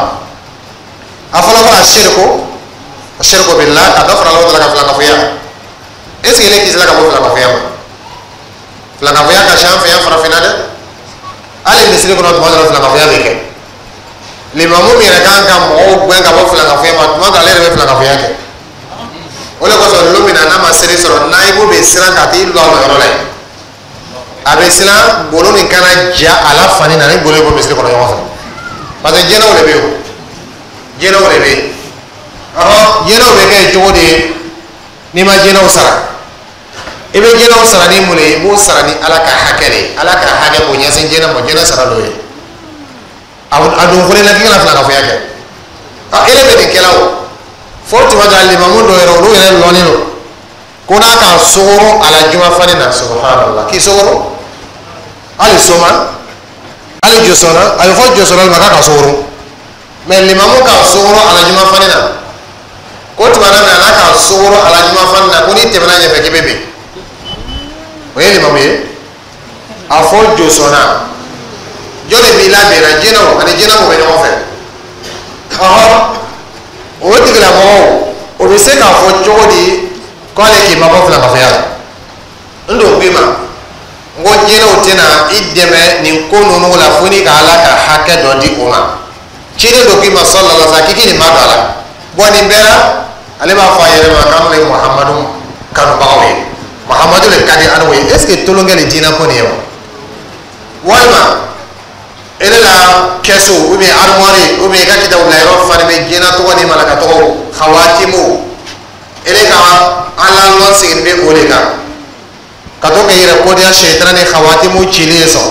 A fɔlɔ fɔlɔ, الشرك الشرك بالله, ka dɔ fara Ala ka filankafoya. Est ce que ele kisila ka bɔ filankafoya ma? Filankafoya ka ca an fɛ yan farafinna dɛ. Hali misiri kɔnɔ, tuma dɔ la filankafoya bɛ kɛ. Limamu min yɛrɛ kan ka mɔgɔw gɛn ka bɔ filankafoya ma, tuma dɔ ale yɛrɛ bɛ filankafoya kɛ. O de kosɔn, lon min na n'a ma seli sɔrɔ, nayibu bɛ siran ka t'i lɔ a yɔrɔ la yen. A bɛ siran golo nin kana ja a la fani na ni golo ye bɔ misiri kɔnɔ ɲɔgɔn fɛ, parce que jɛnɛw de bɛ yen o, jɛnɛw de bɛ yen. Ɔhɔn, jɛnɛw bɛ kɛ cogo di? N'i ma jɛnɛw sara, i bɛ jɛnɛw sara ni mun de ye? I b'o sara ni Ala ka hakɛ de ye. Ala ka hakɛ k'o ɲɛsin jɛnɛ ma, jɛnɛ sara l'o ye. A don fɔlɔ la k'i kana filankafoya kɛ. Ɔ, ele bɛ nin kɛla o fo tuma dɔ la, limamu dɔw yɛrɛ, olu yɛrɛ lɔnnen don ko n'a ka sogoro a la juma fani na. Subhanallah, k'i sogoro hali soma hali josɔnna, a bɛ fɔ josɔnna ma k'a ka sogoro, mɛ limamu ka sogoro a la juma fani na, ko tuma na n'a ka sogoro a la juma fani na, ko n'i tɛmɛna ɲɛfɛ k'i bɛ bin. O ye limamu ye. A fɔ josɔnna, jɔn de b'i labɛnna? Jinɛw ani jinɛw bɛ ɲɔgɔn fɛ. Ɔhɔn, o tigilamɔgɔw, o bɛ se k'a fɔ cogo di k'ale k'i mabɔ filankafoya la? N don k'i ma n ko jinɛw tɛna i dɛmɛ nin ko ninnu la fo n'i ka Ala ka hakɛ dɔ di o ma. Ciden dɔ k'i ma sallallahu alaihi wa sallam k'i k'i nin ma don a la. Bɔn, nin bɛɛ la, ale b'a fɔ a yɛrɛ ma k'an ye Muhamadu kanubagaw ye, Muhamadu de ka di anw ye. Est ce que tolonkɛ ni diinɛ ko nin ye wa? Walima ele la kɛsu ou bien armoire ou bien i ka kitabu bila yɔrɔ fani bɛ diinɛ tɔgɔ ni malaka tɔgɔ hawatimu, ele ka Ala lɔn sigilen bɛ o de kan ka to k'i yɛrɛ kodiya sɛtana ni hawatimu cili ye sɔn.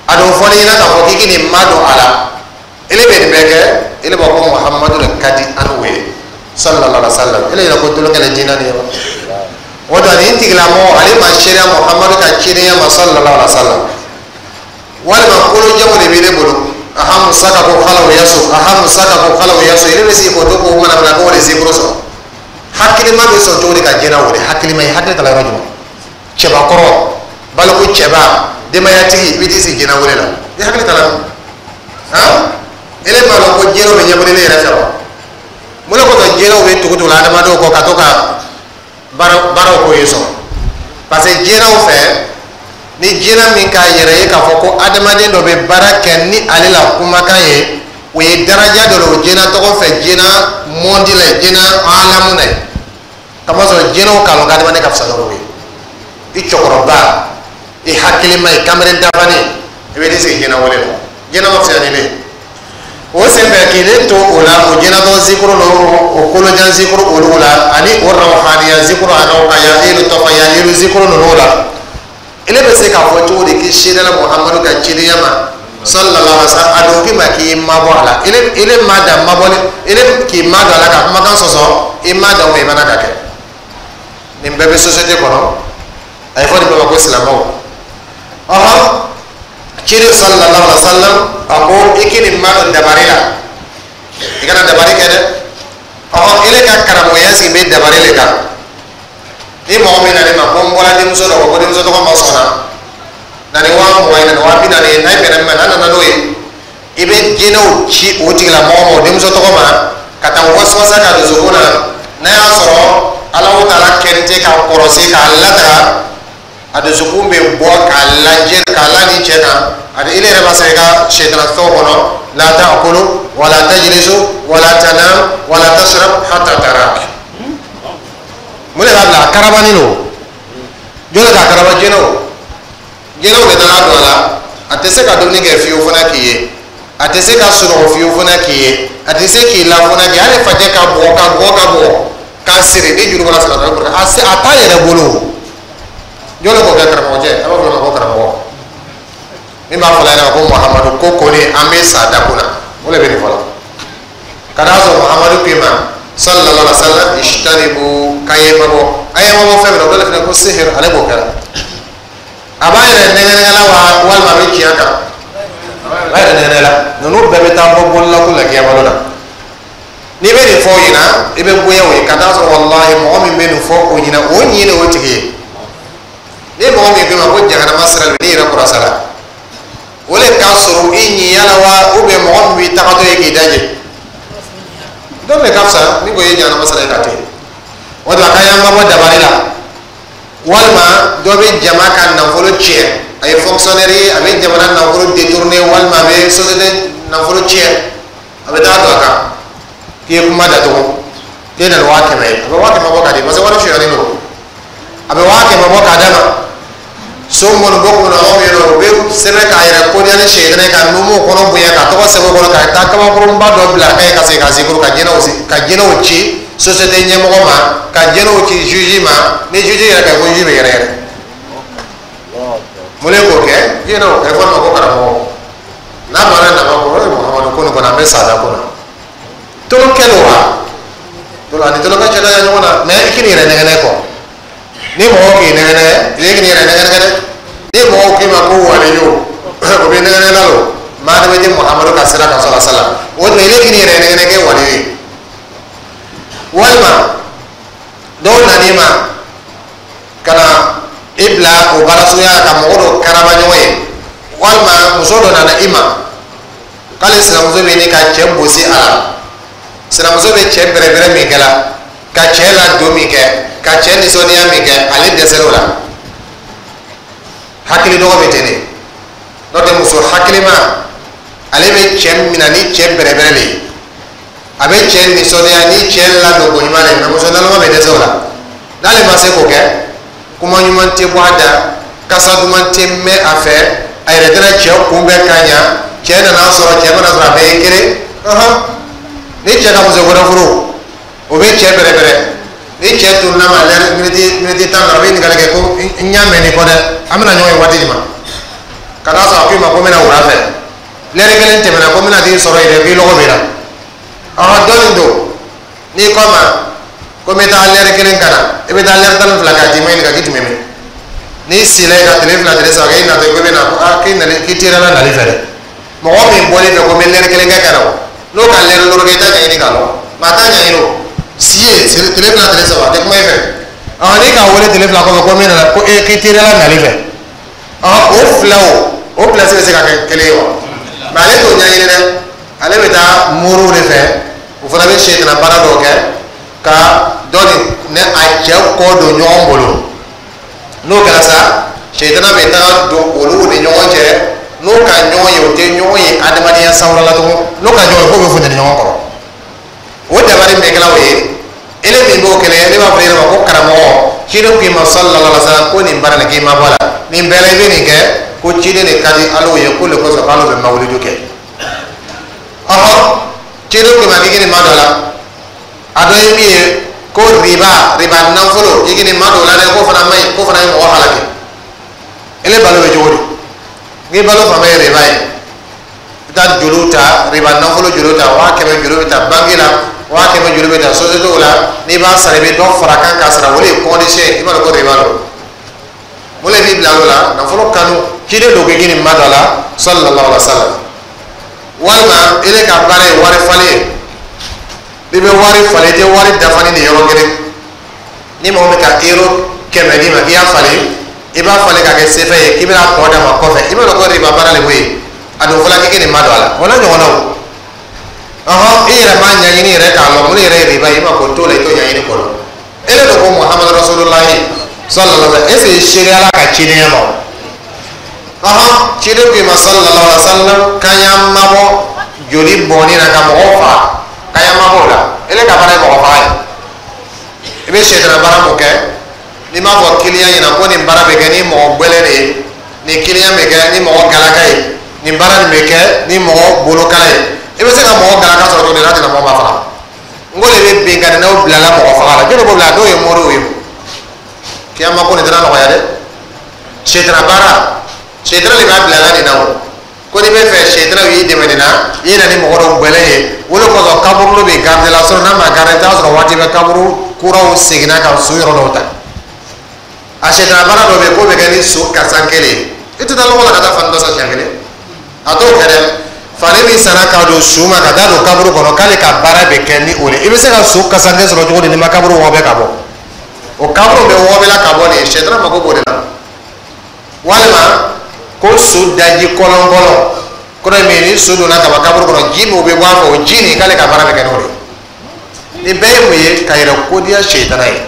A don fɔli ɲɛna k'a fɔ k'i k'i nin ma don a la, ele bɛ nin bɛɛ kɛ, ele b'a fɔ Muhamadu de ka di anw ye sallallahu alaihi wa sallam. Ele yɛrɛ ko tolonkɛ la diinɛ nin ye wa? O da nin tigilamɔgɔ, ale ma seereya Muhamadu ka cidenya ma sallallahu alaihi wa sallam. Walima kolojamu de b'i ne bolo, aha, musaka ko xalaw yaso, aha, musaka ko xalaw yaso, ele bɛ sigi k'o to k'o manamana ko o de zikuru sɔrɔ. Hakilima bɛ sɔn cogo di ka jɛnɛ wele? Hakilima ye hakili tala yɔrɔ jumɛn? Cɛbakɔrɔ, baliku cɛba, denbayatigi, i bɛ t'i sigi jɛnɛ wele la, i hakili tala han? Ele b'a dɔn ko jɛnɛw bɛ ɲɛbɔ ne yɛrɛ fɛ wa? Mun de kosɔn jɛnɛw bɛ tugu tugu la adamadenw kɔ ka to ka baara baaraw k'o ye sɔn? Parce que jɛnɛw fɛ, ni jinɛ min k'a yɛrɛ ye k'a fɔ ko adamaden dɔ bɛ baara kɛ ni ale la kumakan ye, o ye daraja dɔ de o jinɛ tɔgɔ fɛ, jinɛ mɔndi la, jinɛ alamu na ye. Kamasɔrɔ jinɛw k'a lɔn k'adamaden ka fisa n'olu ye. I cɛkɔrɔba, i hakilima ye kamalen dafalen, i bɛ t'i sigi jinɛ wele la, jinɛ ma fisaya ni ne ye. O senfɛ k'ile to o la, o jinɛtɔ zikuru ninnu, o kolojan zikuru olu la, ani o rawhaniya zikuru, a rawhaniya elu tɔfaya elu zikuru ninnu la, ele bɛ se k'a fɔ cogo di k'i seerela Muhamadu ka cidenya ma sallallahu alaihi wa sallam? A don k'i ma k'i mabɔ a la, ele ele ma dan mabɔli, ele k'i ma don a la ka kumakan sɔsɔ, i ma dan o ma, i mana ka kɛ. Nin bɛɛ bɛ société kɔnɔ, a ye fɔ nin bɛɛ ma ko silamɛw. Ɔhɔn, ciden sallallahu alaihi wa sallam a ko i k'i nin ma don dabari la, i kana dabari kɛ dɛ. Ɔhɔn, ele ka karamɔgɔya sigi bɛ dabari le kan. Ni mɔgɔ min nana ne ma ko n bɔra denmuso dɔ kɔ, ko denmuso tɔgɔ ma sɔnna na ni waa mugan ye, na ni waa bi naani ye, n'a bɛnna min ma, n'a nana n'o ye, i bɛ jinɛw ci o tigilamɔgɔ ma, o denmuso tɔgɔ ma, ka taa wasawasa ka dusukun na. N'a y'a sɔrɔ Alahu taala kɛlen tɛ k'a kɔrɔsi k'a lataga, a dusukun bɛ bɔ k'a lajɛ k'a la ni cɛ kan. A ile yɛrɛ b'a sɔrɔ i ka sɛtana fɛnw kɔnɔ: la ta'kulu wala tajlisu wala tanam wala tashrab hatta tarak. Mun de b'a bila a karabani don? Jɔn de k'a karaba? Jinɛw, jinɛw de nana don a la. A tɛ se ka dumuni kɛ fiyewu fana k'i ye, a tɛ se ka sunɔgɔ fiyewu fana k'i ye, a tɛ se k'i la fana k'i ye, hali fajɛ ka bugɔ ka bugɔ ka bugɔ k'a siri ni juru bɔra sira dɔ a se a t'a yɛrɛ bolo. Jɔn de k'o kɛ? Karamɔgɔ cɛ, a b'a fɔ o ma ko karamɔgɔ min b'a fɔ la ɲɛna ko Muhamadu ko kɔni an bɛ sa dakun na, o de bɛ nin fɔ la ka d'a sɔrɔ Muhamadu k'i ma sallallahu alaihi wa sallam ijtanibu, k'an ye mabɔ, an ye mabɔ fɛn min na, o dɔ de fana ko sihir, ale b'o kɛra. A b'a yɛrɛ nɛgɛ la wa, walima a bɛ tiɲɛ kan a b'a yɛrɛ nɛgɛ la. Ninnu bɛɛ bɛ taa bɔ bololako la kiyama na. N'i bɛ nin fɔ o ɲɛna, i bɛ bonya o ye ka taa sɔrɔ walahi mɔgɔ min bɛ nin fɔ o ɲɛna, o ɲin de o tigi ye. Ni mɔgɔ min ko i ma ko jahanama sira bɛ n'i yɛrɛ kɔrɔsa la, o le ka sɔrɔ i ɲinya la wa, ou bien mɔgɔ min b'i tagatɔ ye k'i daje dɔ de ka fisa min ko i ye jahanama sira ye ka to yen. O de la k'an y'an mabɔ dabali la. Walima dɔ bɛ jama ka nafolo tiɲɛ, a ye fonctionnaire ye, a bɛ jamana nafolo détourner, walima a bɛ société nafolo tiɲɛ, a bɛ taa don a kan k'i ye kuma datugu, k'e nana waa kɛmɛ ye, a bɛ waa kɛmɛ bɔ k'a di, parce que wari sonyalen don, a bɛ waa kɛmɛ bɔ k'a d'a ma. So minnu bɔ kunna anw yen nɔ, u bɛ sɛbɛn k'a yɛrɛ kodiya ni sɛyidana ye, ka numuw kɔnɔ bonya, ka tɔgɔ sɛbɛn o kɔnɔ, ka taa kabakurunba dɔ bila a kan ye, ka segin ka segin ka jɛnɛw ka jɛnɛw ci société ɲɛmɔgɔ ma, ka jɛnɛw ci juge ma. Ni juge yɛrɛ ka ko juge bɛ yɛrɛ yɛrɛ mun de k'o kɛ jɛnɛw a bɛ fɔ ma ko karamɔgɔ n'a banna nama ko ee Muhamadu ko nin kɔni an bɛ sada ko la tolokɛ don wa tolo ani tolokɛ cɛ ka jan ɲɔgɔn na. Mɛ i k'i yɛrɛ nɛgɛnɛ kɔ, ni mɔgɔw k'i nɛgɛnɛ, i k'i yɛrɛ nɛgɛnɛ dɛ. Ni mɔgɔw k'i ma ko waliyo, o bɛ nɛgɛnɛ la o maa de bɛ di Muhamadu ka sira kan sɔrɔ sala o tuma i k'i yɛrɛ nɛgɛnɛ kɛ waliyo ye. Walima dɔw nan'i ma ka na i bila o baara suguya ka mɔgɔ dɔ karaba ɲɔgɔn ye, walima muso dɔ nana i ma k'ale sinamuso bɛ ɲini ka cɛ gosi a la, sinamuso bɛ cɛ bɛrɛbɛrɛ min kɛ la, ka cɛ ladon min kɛ, ka cɛ nisɔndiya min kɛ, ale dɛsɛr'o la. Hakili dɔgɔ bɛ ten de, n'o tɛ muso hakilima, ale bɛ cɛ minɛ ni cɛ bɛrɛbɛrɛ de ye, a bɛ cɛ nisɔndiya ni cɛ ladon ko ɲuman de. Mɛ muso naloma bɛ dɛsɛ o la. N'ale ma se k'o kɛ, kuma ɲuman tɛ bɔ a da, kasa duman tɛ mɛn a fɛ, a yɛrɛ tɛna cɛ kunbɛn ka ɲa. Cɛ nana sɔrɔ, cɛ mana sɔrɔ, a bɛɛ ye kelen. Ni cɛ ka muso wɛrɛ furu, o bɛ cɛ bɛrɛbɛrɛ. Ni cɛ tununna ma lɛri miniti miniti tan na, a bɛ ɲininkali kɛ ko n y'a mɛn nin kɔ dɛ, an bɛna ɲɔgɔn ye waati jumɛn? Ka taa sɔrɔ a ko i ma ko n bɛna wula fɛ, lɛri kelen tɛmɛna, ko n bɛna t'i sɔrɔ yen dɛ, k'i lɔgɔ b'i la. Ɔhɔn, dɔɔnin don n'i kɔ ma ko n bɛ taa lɛri kelen ka na, i bɛ taa lɛri tan ni fila k'a d'i ma, ɲininka k'i tun bɛ min. N'i sila yen ka tile fila, tile saba kɛ, i natɔ ko i bɛ na ko aa k'i nali k'i teriyala nali fɛ dɛ. Mɔgɔ min bɔlen fɛ ko n bɛ lɛri kelen kɛ ka na, o n'o ka lɛri duuru kɛ, i t'a ɲɛɲini k'a lɔn, maa t'a ɲɛɲini. O si ye tile fila, tile saba, a tɛ kuma i fɛ. Ɔhɔn, n'i k'a wele tile fila kɔfɛ ko min nana ko ee k'i teriyala nali fɛ, ɔhɔn, o fila o o place bɛ se ka kɛ kelen ye wa? Mɛ ale t'o ɲɛɲini dɛ, ale bɛ taa moriw de fɛ, o fana bɛ sɛtana baara dɔw kɛ ka dɔ ni a cɛ kɔ don ɲɔgɔn bolo. N'o kɛra sa, sɛtana bɛ taga don olu ni ɲɔgɔn cɛ. N'o ka ɲɔgɔn ye, o tɛ ɲɔgɔn ye adamadenya sanwara la tugun. N'o ka ɲɔgɔn ye, k'o bɛ funteni ɲɔgɔn kɔrɔ. O dabali min kɛla o ye, ele min b'o kɛlɛ, ne b'a fɔ e yɛrɛ ma ko karamɔgɔ, ciden k'i ma sallallahu alaihi wa sallam ko nin baara nin k'i ma bɔ a la, nin bɛɛ la i bɛ nin kɛ ko ciden de ka di Ala ye, ko le kosɔn k'ale bɛ mawuludu kɛ. Ɔhɔn, ciden k'i ma k'i nin ma dɔ la, a dɔ ye min ye ko riba riba nafolo, k'i nin ma dɔ la dɛ, k'o fana man ɲi, k'o fana ye mɔgɔ halaki. Ele balo bɛ cogo di? N'i balo fan bɛɛ ye riba ye, i bɛ taa joliw ta, riba nafolo joliw ta, waa kɛmɛ joli bɛ ta banque la, waa kɛmɛ joli bɛ ta société la, n'i b'a sara, i bɛ dɔ fara kan k'a sara, o de ye condition ye. I b'a dɔn ko riba don. Mun de b'i bila o la? Nafolo kanu. Ciden don k'i nin ma dɔ la sallallahu alaihi wa sallam. Walima ele ka baara ye wari falen ye, n'i bɛ wari falen, i tɛ wari dafa ni nin yɔrɔ kelen. Ni mɔgɔ min ka euro kɛmɛ d'i ma k'i y'a falen, i b'a falen ka kɛ sefa ye, k'i bɛna tɔ d'a ma kɔfɛ, i b'a dɔn ko riba baara le b'o ye. A dun fɔla k'i nin ma don a la, o n'a ɲɔgɔnnaw. Ɔhɔn, i yɛrɛ m'a ɲɛɲini yɛrɛ k'a lɔn mun yɛrɛ ye riba ye, i ma ko t'o la, i t'o ɲɛɲini k'o lɔn. Ele de ko Muhamadu rasulullahi sallallahu alaihi wa sallam, est ce que seereya la ka cidenya ma o? Ɔhɔn, ciden ko i ma sallallahu alaihi wa sallam k'an y'an mabɔ joli bɔnni na ka mɔgɔw faga, k'an y'an mabɔ o la. Ele ka baara ye mɔgɔ faga ye, i bɛ sɛtana baara mun kɛ, n'i m'a fɔ kiliyan ɲɛna ko nin baara bɛ kɛ ni mɔgɔ gbɛlɛn de ye, nin kiliyan bɛ kɛ ni mɔgɔ galaka ye, nin baara nin bɛ kɛ ni mɔgɔ bolokala ye, i bɛ se ka mɔgɔ galaka sɔrɔ cogo di n'a tɛna mɔgɔ ma faga? N ko de bɛ binkannikɛlaw bilala mɔgɔ faga la, jɔnni b'o bila? Dɔw ye moriw ye. Kiyama ko nin tɛna nɔgɔya dɛ. Sɛtana baara, sɛtana de b'a bila la nin na. O ko n'i bɛ fɛ sɛtana y'i dɛmɛ nin na, i na ni mɔgɔ dɔw gbɛlɛn ye, o de kosɔn kaburu bɛ garde la sɔrɔ n'a ma garde, i t'a sɔrɔ waati bɛɛ kaburu kuraw seginna ka so yɔrɔ dɔw ta. A sɛtana baara dɔ bɛ yen k'o bɛ kɛ ni so kasan kelen ye, i tɛ taa lɔgɔ la ka taa fani dɔ san siɲɛ kelen, a t'o kɛ dɛ. Fani min sanna k'a don su ma ka taa don kaburu kɔnɔ, k'ale ka baara bɛ kɛ ni o de ye. I bɛ se ka su kasanke sɔrɔ cogo di n'i ma kaburu wɔgɔbɛ ka bɔ? O kaburu bɛ wɔgɔbɛla ka bɔ de, sɛtana mako b'o de la. Walima ko su daji kɔlɔnkɔlɔn kɔrɔ ye min ye, ni su donna ka ban kaburu kɔnɔ, ji min bɛ bɔ a fɛ, o ji nin, k'ale ka baara bɛ kɛ n'o de ye. Nin bɛɛ ye mun ye? Ka yɛrɛ kodiya sɛtana ye.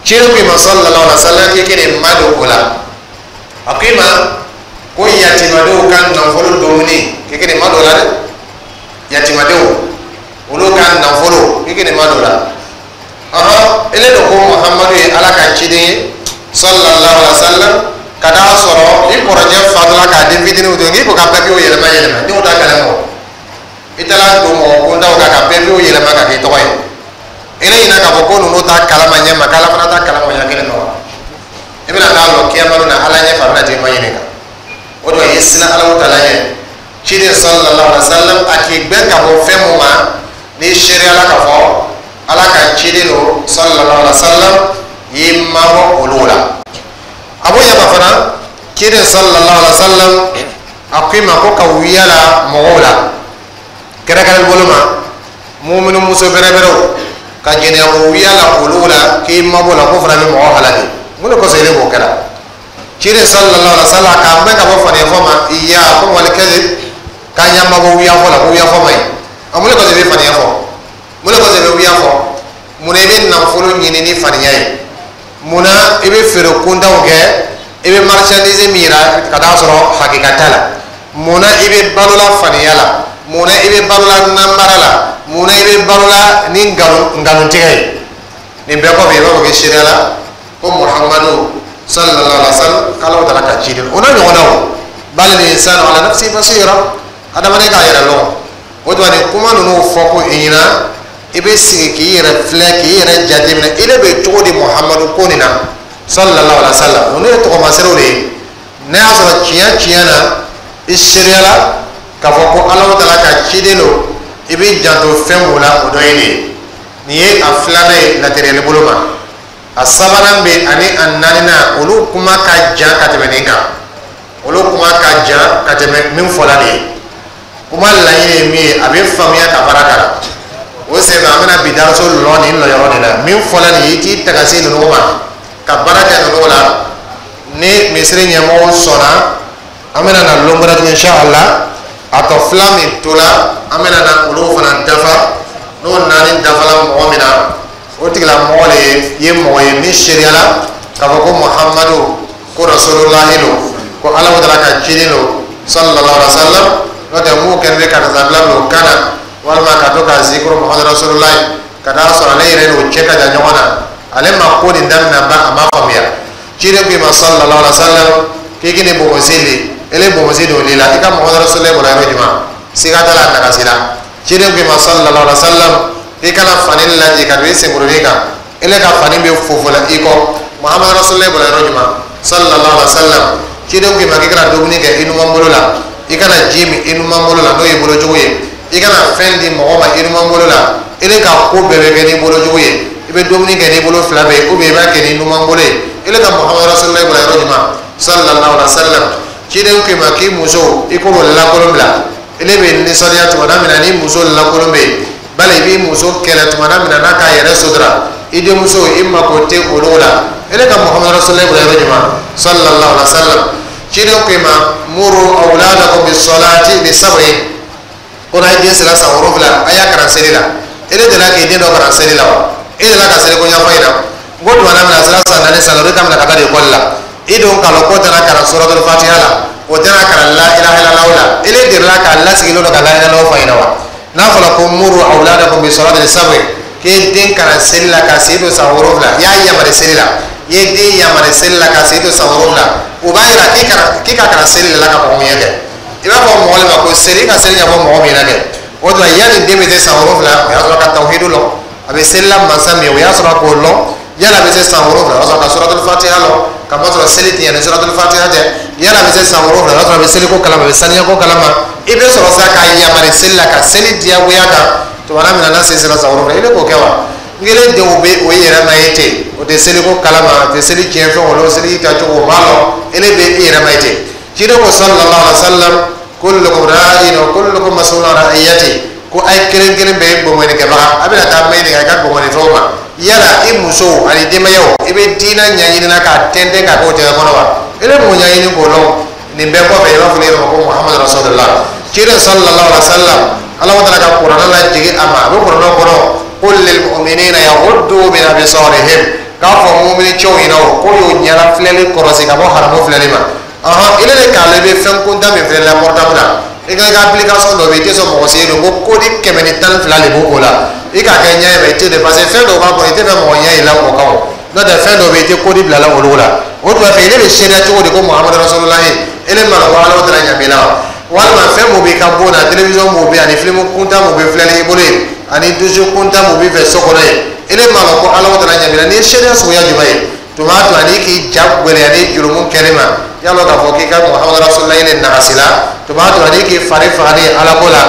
Ciden ko i ma, sallallahu alaihi wa sallam, k'i k'i ma don o la. A ko i ma ko yatimadenw ka nafolo dumuni, k'i k'i ma don o la dɛ. Yatimadenw, olu ka nafolo, k'i k'i ma don o la. Ɔhɔn, ele de ko Muhamadu ye Ala ka ciden ye, sallallahu alaihi wa sallam, ka taa sɔrɔ i kɔrɔkɛ fatula k'a den fitininw to yen, k'i ko ka papiyew yɛlɛma yɛlɛma, denw t'a kalama. O i taara don mɔgɔ kundaw kan ka papiyew yɛlɛma ka k'i tɔgɔ ye. Ele ɲinɛ k'a fɔ ko ninnu t'a kalama ɲɛ ma, k'Ala fana t'a kalama ɲɛ kelen na wa. I bɛna taa lɔ kiyama na Ala ɲɛ fɛ, a bɛna t'i ma ɲininka. O de la i ye siran Ala taala ɲɛ. Ciden sallallahu alaihi wa sallam, a k'i gbɛn ka bɔ fɛn mun ma, n'i seereyala k'a fɔ Ala ka ciden don, sallallahu alaihi wa sallam, i y'i mabɔ olu la. A b'o ɲɛma fana, ciden sallallahu alaihi wa sallam, a ko i ma ko ka wuya la mɔgɔw la, kɛrɛnkɛrɛn bolo ma muminu muso bɛrɛbɛrɛw, ka jɛnɛya wuya la olu la, k'i mabɔ la, k'o fana bɛ mɔgɔ halaki. Mun de kosɔn ile b'o kɛra? Ciden sallallahu alaihi wa sallam k'an bɛɛ ka bɔ faniya fɔ ma iya ko wali kɛse, k'an y'an mabɔ wuya fɔ la, ko wuya fɔ ma ɲi. A mun de kosɔn i bɛ faniya fɔ? Mun de kosɔn i bɛ wuya fɔ? Mun na i bɛ nafolo ɲini ni faniya ye? Mun na i bɛ feere kuntanw kɛ? I bɛ marchandise min yira ka taa sɔrɔ hakika t'a la. Mun na i bɛ balola faniya la? Mun na i bɛ balola namara la? Mun na i bɛ balola ni nkalon nkalontigɛ ye? Nin bɛɛ kɔfɛ, i b'a fɔ k'i seereya la ko Muhamadu sallallahu alaihi wa sallam, k'Ala taala ka ciden. O n'a ɲɔgɔnnaw, bal insanu ala nafsi basira, adamaden k'a yɛrɛ lɔn. O tuma, nin kuma ninnu fɔ ko i ɲɛna, i bɛ sigi k'i yɛrɛ filɛ, k'i yɛrɛ jateminɛ, i de bɛ cogo di Muhamadu ko nin na, sallallahu alaihi wa sallam. Ninnu ye tɔgɔmaserew de ye. N'a y'a sɔrɔ tiɲɛ tiɲɛ na i seereyala k'a fɔ ko Ala taala ka ciden don, i b'i janto fɛn mun la, o dɔ ye nin ye. Nin ye a filanan ye lateriyali bolo ma. A sabanan bɛ ani a naaninan, olu kuma ka jan ka tɛmɛ nin kan. Olu kuma ka jan ka tɛmɛ min fɔla nin ye. Kuma laɲini ye min ye, a bɛ faamuya ka baara k'a la. O senfɛ, an bɛna bi daraso lɔ nin lɔyɔrɔ de la. Min fɔla nin ye, i t'i tagasi ninnu ma ka baara kɛ ninnu la. Ni misiri ɲɛmɔgɔw sɔnna, an bɛna na lon wɛrɛ tuguni, inshallah. A tɔ fila min tola, an bɛna na olu fana dafa. N'o naani dafala mɔgɔ min na, o tigilamɔgɔ de ye mɔgɔ ye min seereyala k'a fɔ ko Muhamadu ko rasulullahi don, ko Ala taala ka ciden don, sallallahu alaihi wa sallam. N'o tɛ, mun kɛlen bɛ karisa bila o kan na, walima ka to ka zikuru Muhamadu rasulullahi, ka taa sɔrɔ ale yɛrɛ n'o cɛ ka jan ɲɔgɔn na, ale ma ko nin daminɛ ba, a ma faamuya. Ciden ko i ma, sallallahu alaihi wa sallam, k'i k'i ni bonbonsi le, ele bonbonsi don o la, i ka Muhamadu rasulullahi bɔra yɔrɔ jumɛn? Siga t'a la, a nagasi la. Ciden ko i ma, sallallahu alaihi wa sallam, i kana fani lajɛ ka don i senkurunin kan, ele ka fani bɛ fofo la i kɔ. Muhamadu rasulullahi bɔra yɔrɔ jumɛn? Sallallahu alaihi wa sallam. Ciden ko i ma k'i kana dumuni kɛ i numan bolo la, i kana ji min i numan bolo la, n'o ye bolo jugu ye. I kana fɛn di mɔgɔ ma i numan bolo la. Ele ka ko bɛɛ bɛ kɛ n'i bolo jugu ye. I bɛ dumuni kɛ n'i bolo fila bɛɛ ye, ou bien i b'a kɛ n'i numan bolo ye. Ele ka Muhamadu rasulullahi bɔra yɔrɔ jumɛn? Sallallahu alaihi wa sallam. Ciden ko i ma k'i muso, i k'o lankolon bila. Ele bɛ nisɔndiya tuma min na ni muso lankolon bɛ yen, bali i b'i muso kɛlɛ tuma min na n'a k'a yɛrɛ sutura. I denmuso, i mako tɛ olu la. Ele ka Muhamadu rasulullahi bɔra yɔrɔ jumɛn? Sallallahu alaihi wa sallam. Ciden ko i ma muru awladakum bisolati bi sab'in, ko n'a ye den sera san wolonwula, a y'a kalan seli la. Ele delila k'i den dɔ kalan seli la wa? E delila ka seli ko ɲɛfɔ ɲɛna n ko tuma min na a sera san naani, san duuru, i ka minɛ ka taa ekɔli la, i don k'a lɔn k'o tɛna kalan suratul fatiha la, o tɛna kalan la ilaha illallah la. Ele delila k'a lasigilen don ka la ilaha illallah fɔ ɲɛna wa? N'a fɔra ko muru awladakum bisolati li sab'in, k'e den kalan seli la ka sen don san wolonwula, i y'a yamari seli la, i ye den yamari seli la ka sen don san wolonwula, o b'a yira k'i kalan k'i ka kalan seli de la ka mɔgɔ min kɛ. I b'a fɔ mɔgɔ de ma ko seli, i ka seli ɲɛfɔ mɔgɔ min na kɛ. O tuma, yanni den bɛ se san wolonwula, o y'a sɔrɔ ka tawhidu lɔn, a bɛ seli la mansa min ye, o y'a sɔrɔ k'o lɔn. Yala a bɛ se san wolonwula, o y'a sɔrɔ ka suratul fatiha lɔn, ka masɔrɔ seli tiɲɛ ni suratul fatiha tɛ. Yala a bɛ se san wolonwula, o y'a sɔrɔ a bɛ seliko kalama, a bɛ saniyako kalama. I bɛ sɔrɔ sa k'a yamari seli la, ka seli diyagoya kan tuma min na n'a sen sera san wolonwula. I bɛ k'o kɛ wa? N kelen denw bɛ o yɛrɛ ma ye ten, o tɛ seliko kalama, o tɛ seli tiɲɛ fɛn o lɔn, seli tacogo o m'a lɔn. Ele bɛ i yɛrɛ ma ye ten. Ciden ko, sallallahu alaihi wa sallam, Kullukum ra'in wa kullukum mas'ulun an ra'iyati. Ko ay kelen kelen bɛɛ ye gbɔngɔni kɛbaga, a bɛna taa maɲininka i ka gbɔngɔni fɛnw ma. Yala i musow ani denbayaw, i bɛ diinɛ ɲɛɲini na k'a tɛntɛn k'a kɛ o tɛgɛ kɔnɔ wa? I bɛ mun ɲɛɲini k'o lɔn? Nin bɛɛ kɔfɛ, i b'a fɔ ne yɛrɛ ma ko Muhammadu Rasulullah, ciden sallallahu alaihi wa sallam, Ala taala ka kuranɛ lajigin a ma. A bɛ kuranɛ kɔnɔ: qul lil mu'minina yaghuddu min absarihim, k'a fɔ mumini cɛw ɲɛna o ko y'o ɲɛna filɛli kɔrɔsi ka bɔ haramu filɛli ma. Ɔhɔn, ile de k'a lɔn i bɛ fɛn kuntan min filɛ la portable la, i ka i ka application dɔ bɛ yen, i tɛ sɔn mɔgɔ si ye don ko code kɛmɛ ni tan ni fila de b'o la. I k'a kɛ ɲɛ ye, i tɛ de, parce que fɛn dɔw b'a kɔnɔ, i tɛ fɛ mɔgɔ ɲɛ y'i la o kan. O n'o tɛ, fɛn dɔw bɛ yen, i tɛ code bila la olu la. O tuma fɛ, ile bɛ seereya cogo di ko Muhamadu Rasulullahi? Ele ma ko Ala taala ɲɛ b'i la wa? Walima fɛn mun b'i ka bon na, télévision mun bɛ yen, ani film kuntan mun bɛ filɛli i bolo yen, ani douche kuntan mun b'i fɛ so kɔnɔ yen, ele ma ko Ala taala ɲɛ b'i la? Nin ye seereya suguya jumɛn ye? Tuma to ani k'i ja gwɛlɛya ni jurumu kɛli ma, yalɔ k'a fɔ k'i ka Muhamadu Rasulullahi le nagasi la. Tuma to ani k'i fari faga ni Ala ko la,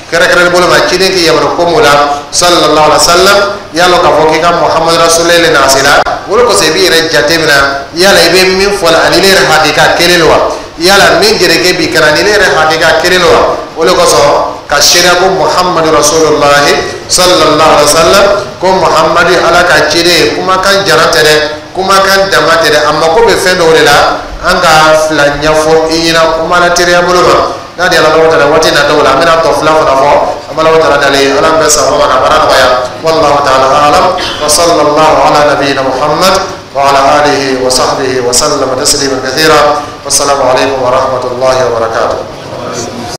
kɛrɛnkɛrɛnni bolo ma, ciden k'i yamaru ko mun la sallallahu alaihi wa sallam, yalɔ k'a fɔ k'i ka Muhamadu Rasulullahi le nagasi la. O de kosɔn, i b'i yɛrɛ jate minɛ: yala i bɛ min fɔ la ani ile yɛrɛ hakika kelen don wa? Yala min jerekɛ b'i kana ni ile yɛrɛ hakika kelen don wa? O de kosɔn, ka seereya ko Muhamadu Rasulullahi sallallahu alaihi wa sallam, ko Muhamadu Ala ka ciden ye, kumakan jara tɛ dɛ, kumakan dama tɛ dɛ, a mako bɛ fɛn dɔw de la. An ka fila ɲɛfɔ i ɲɛna kuma la teriya bolo ma. N'a di Ala taala, waati nataw la, an bɛna tɔ fila fana fɔ. An b'Ala taala dali, Ala bɛ sababa ma ka baara nɔgɔya. Wallahu ta'ala a'lam, wa sallallahu ala nabiyyina Muhammad wa ala alihi wa sahbihi wa sallama taslima kathira. Wassalamu alaikum wa rahmatullahi wa barakatuh.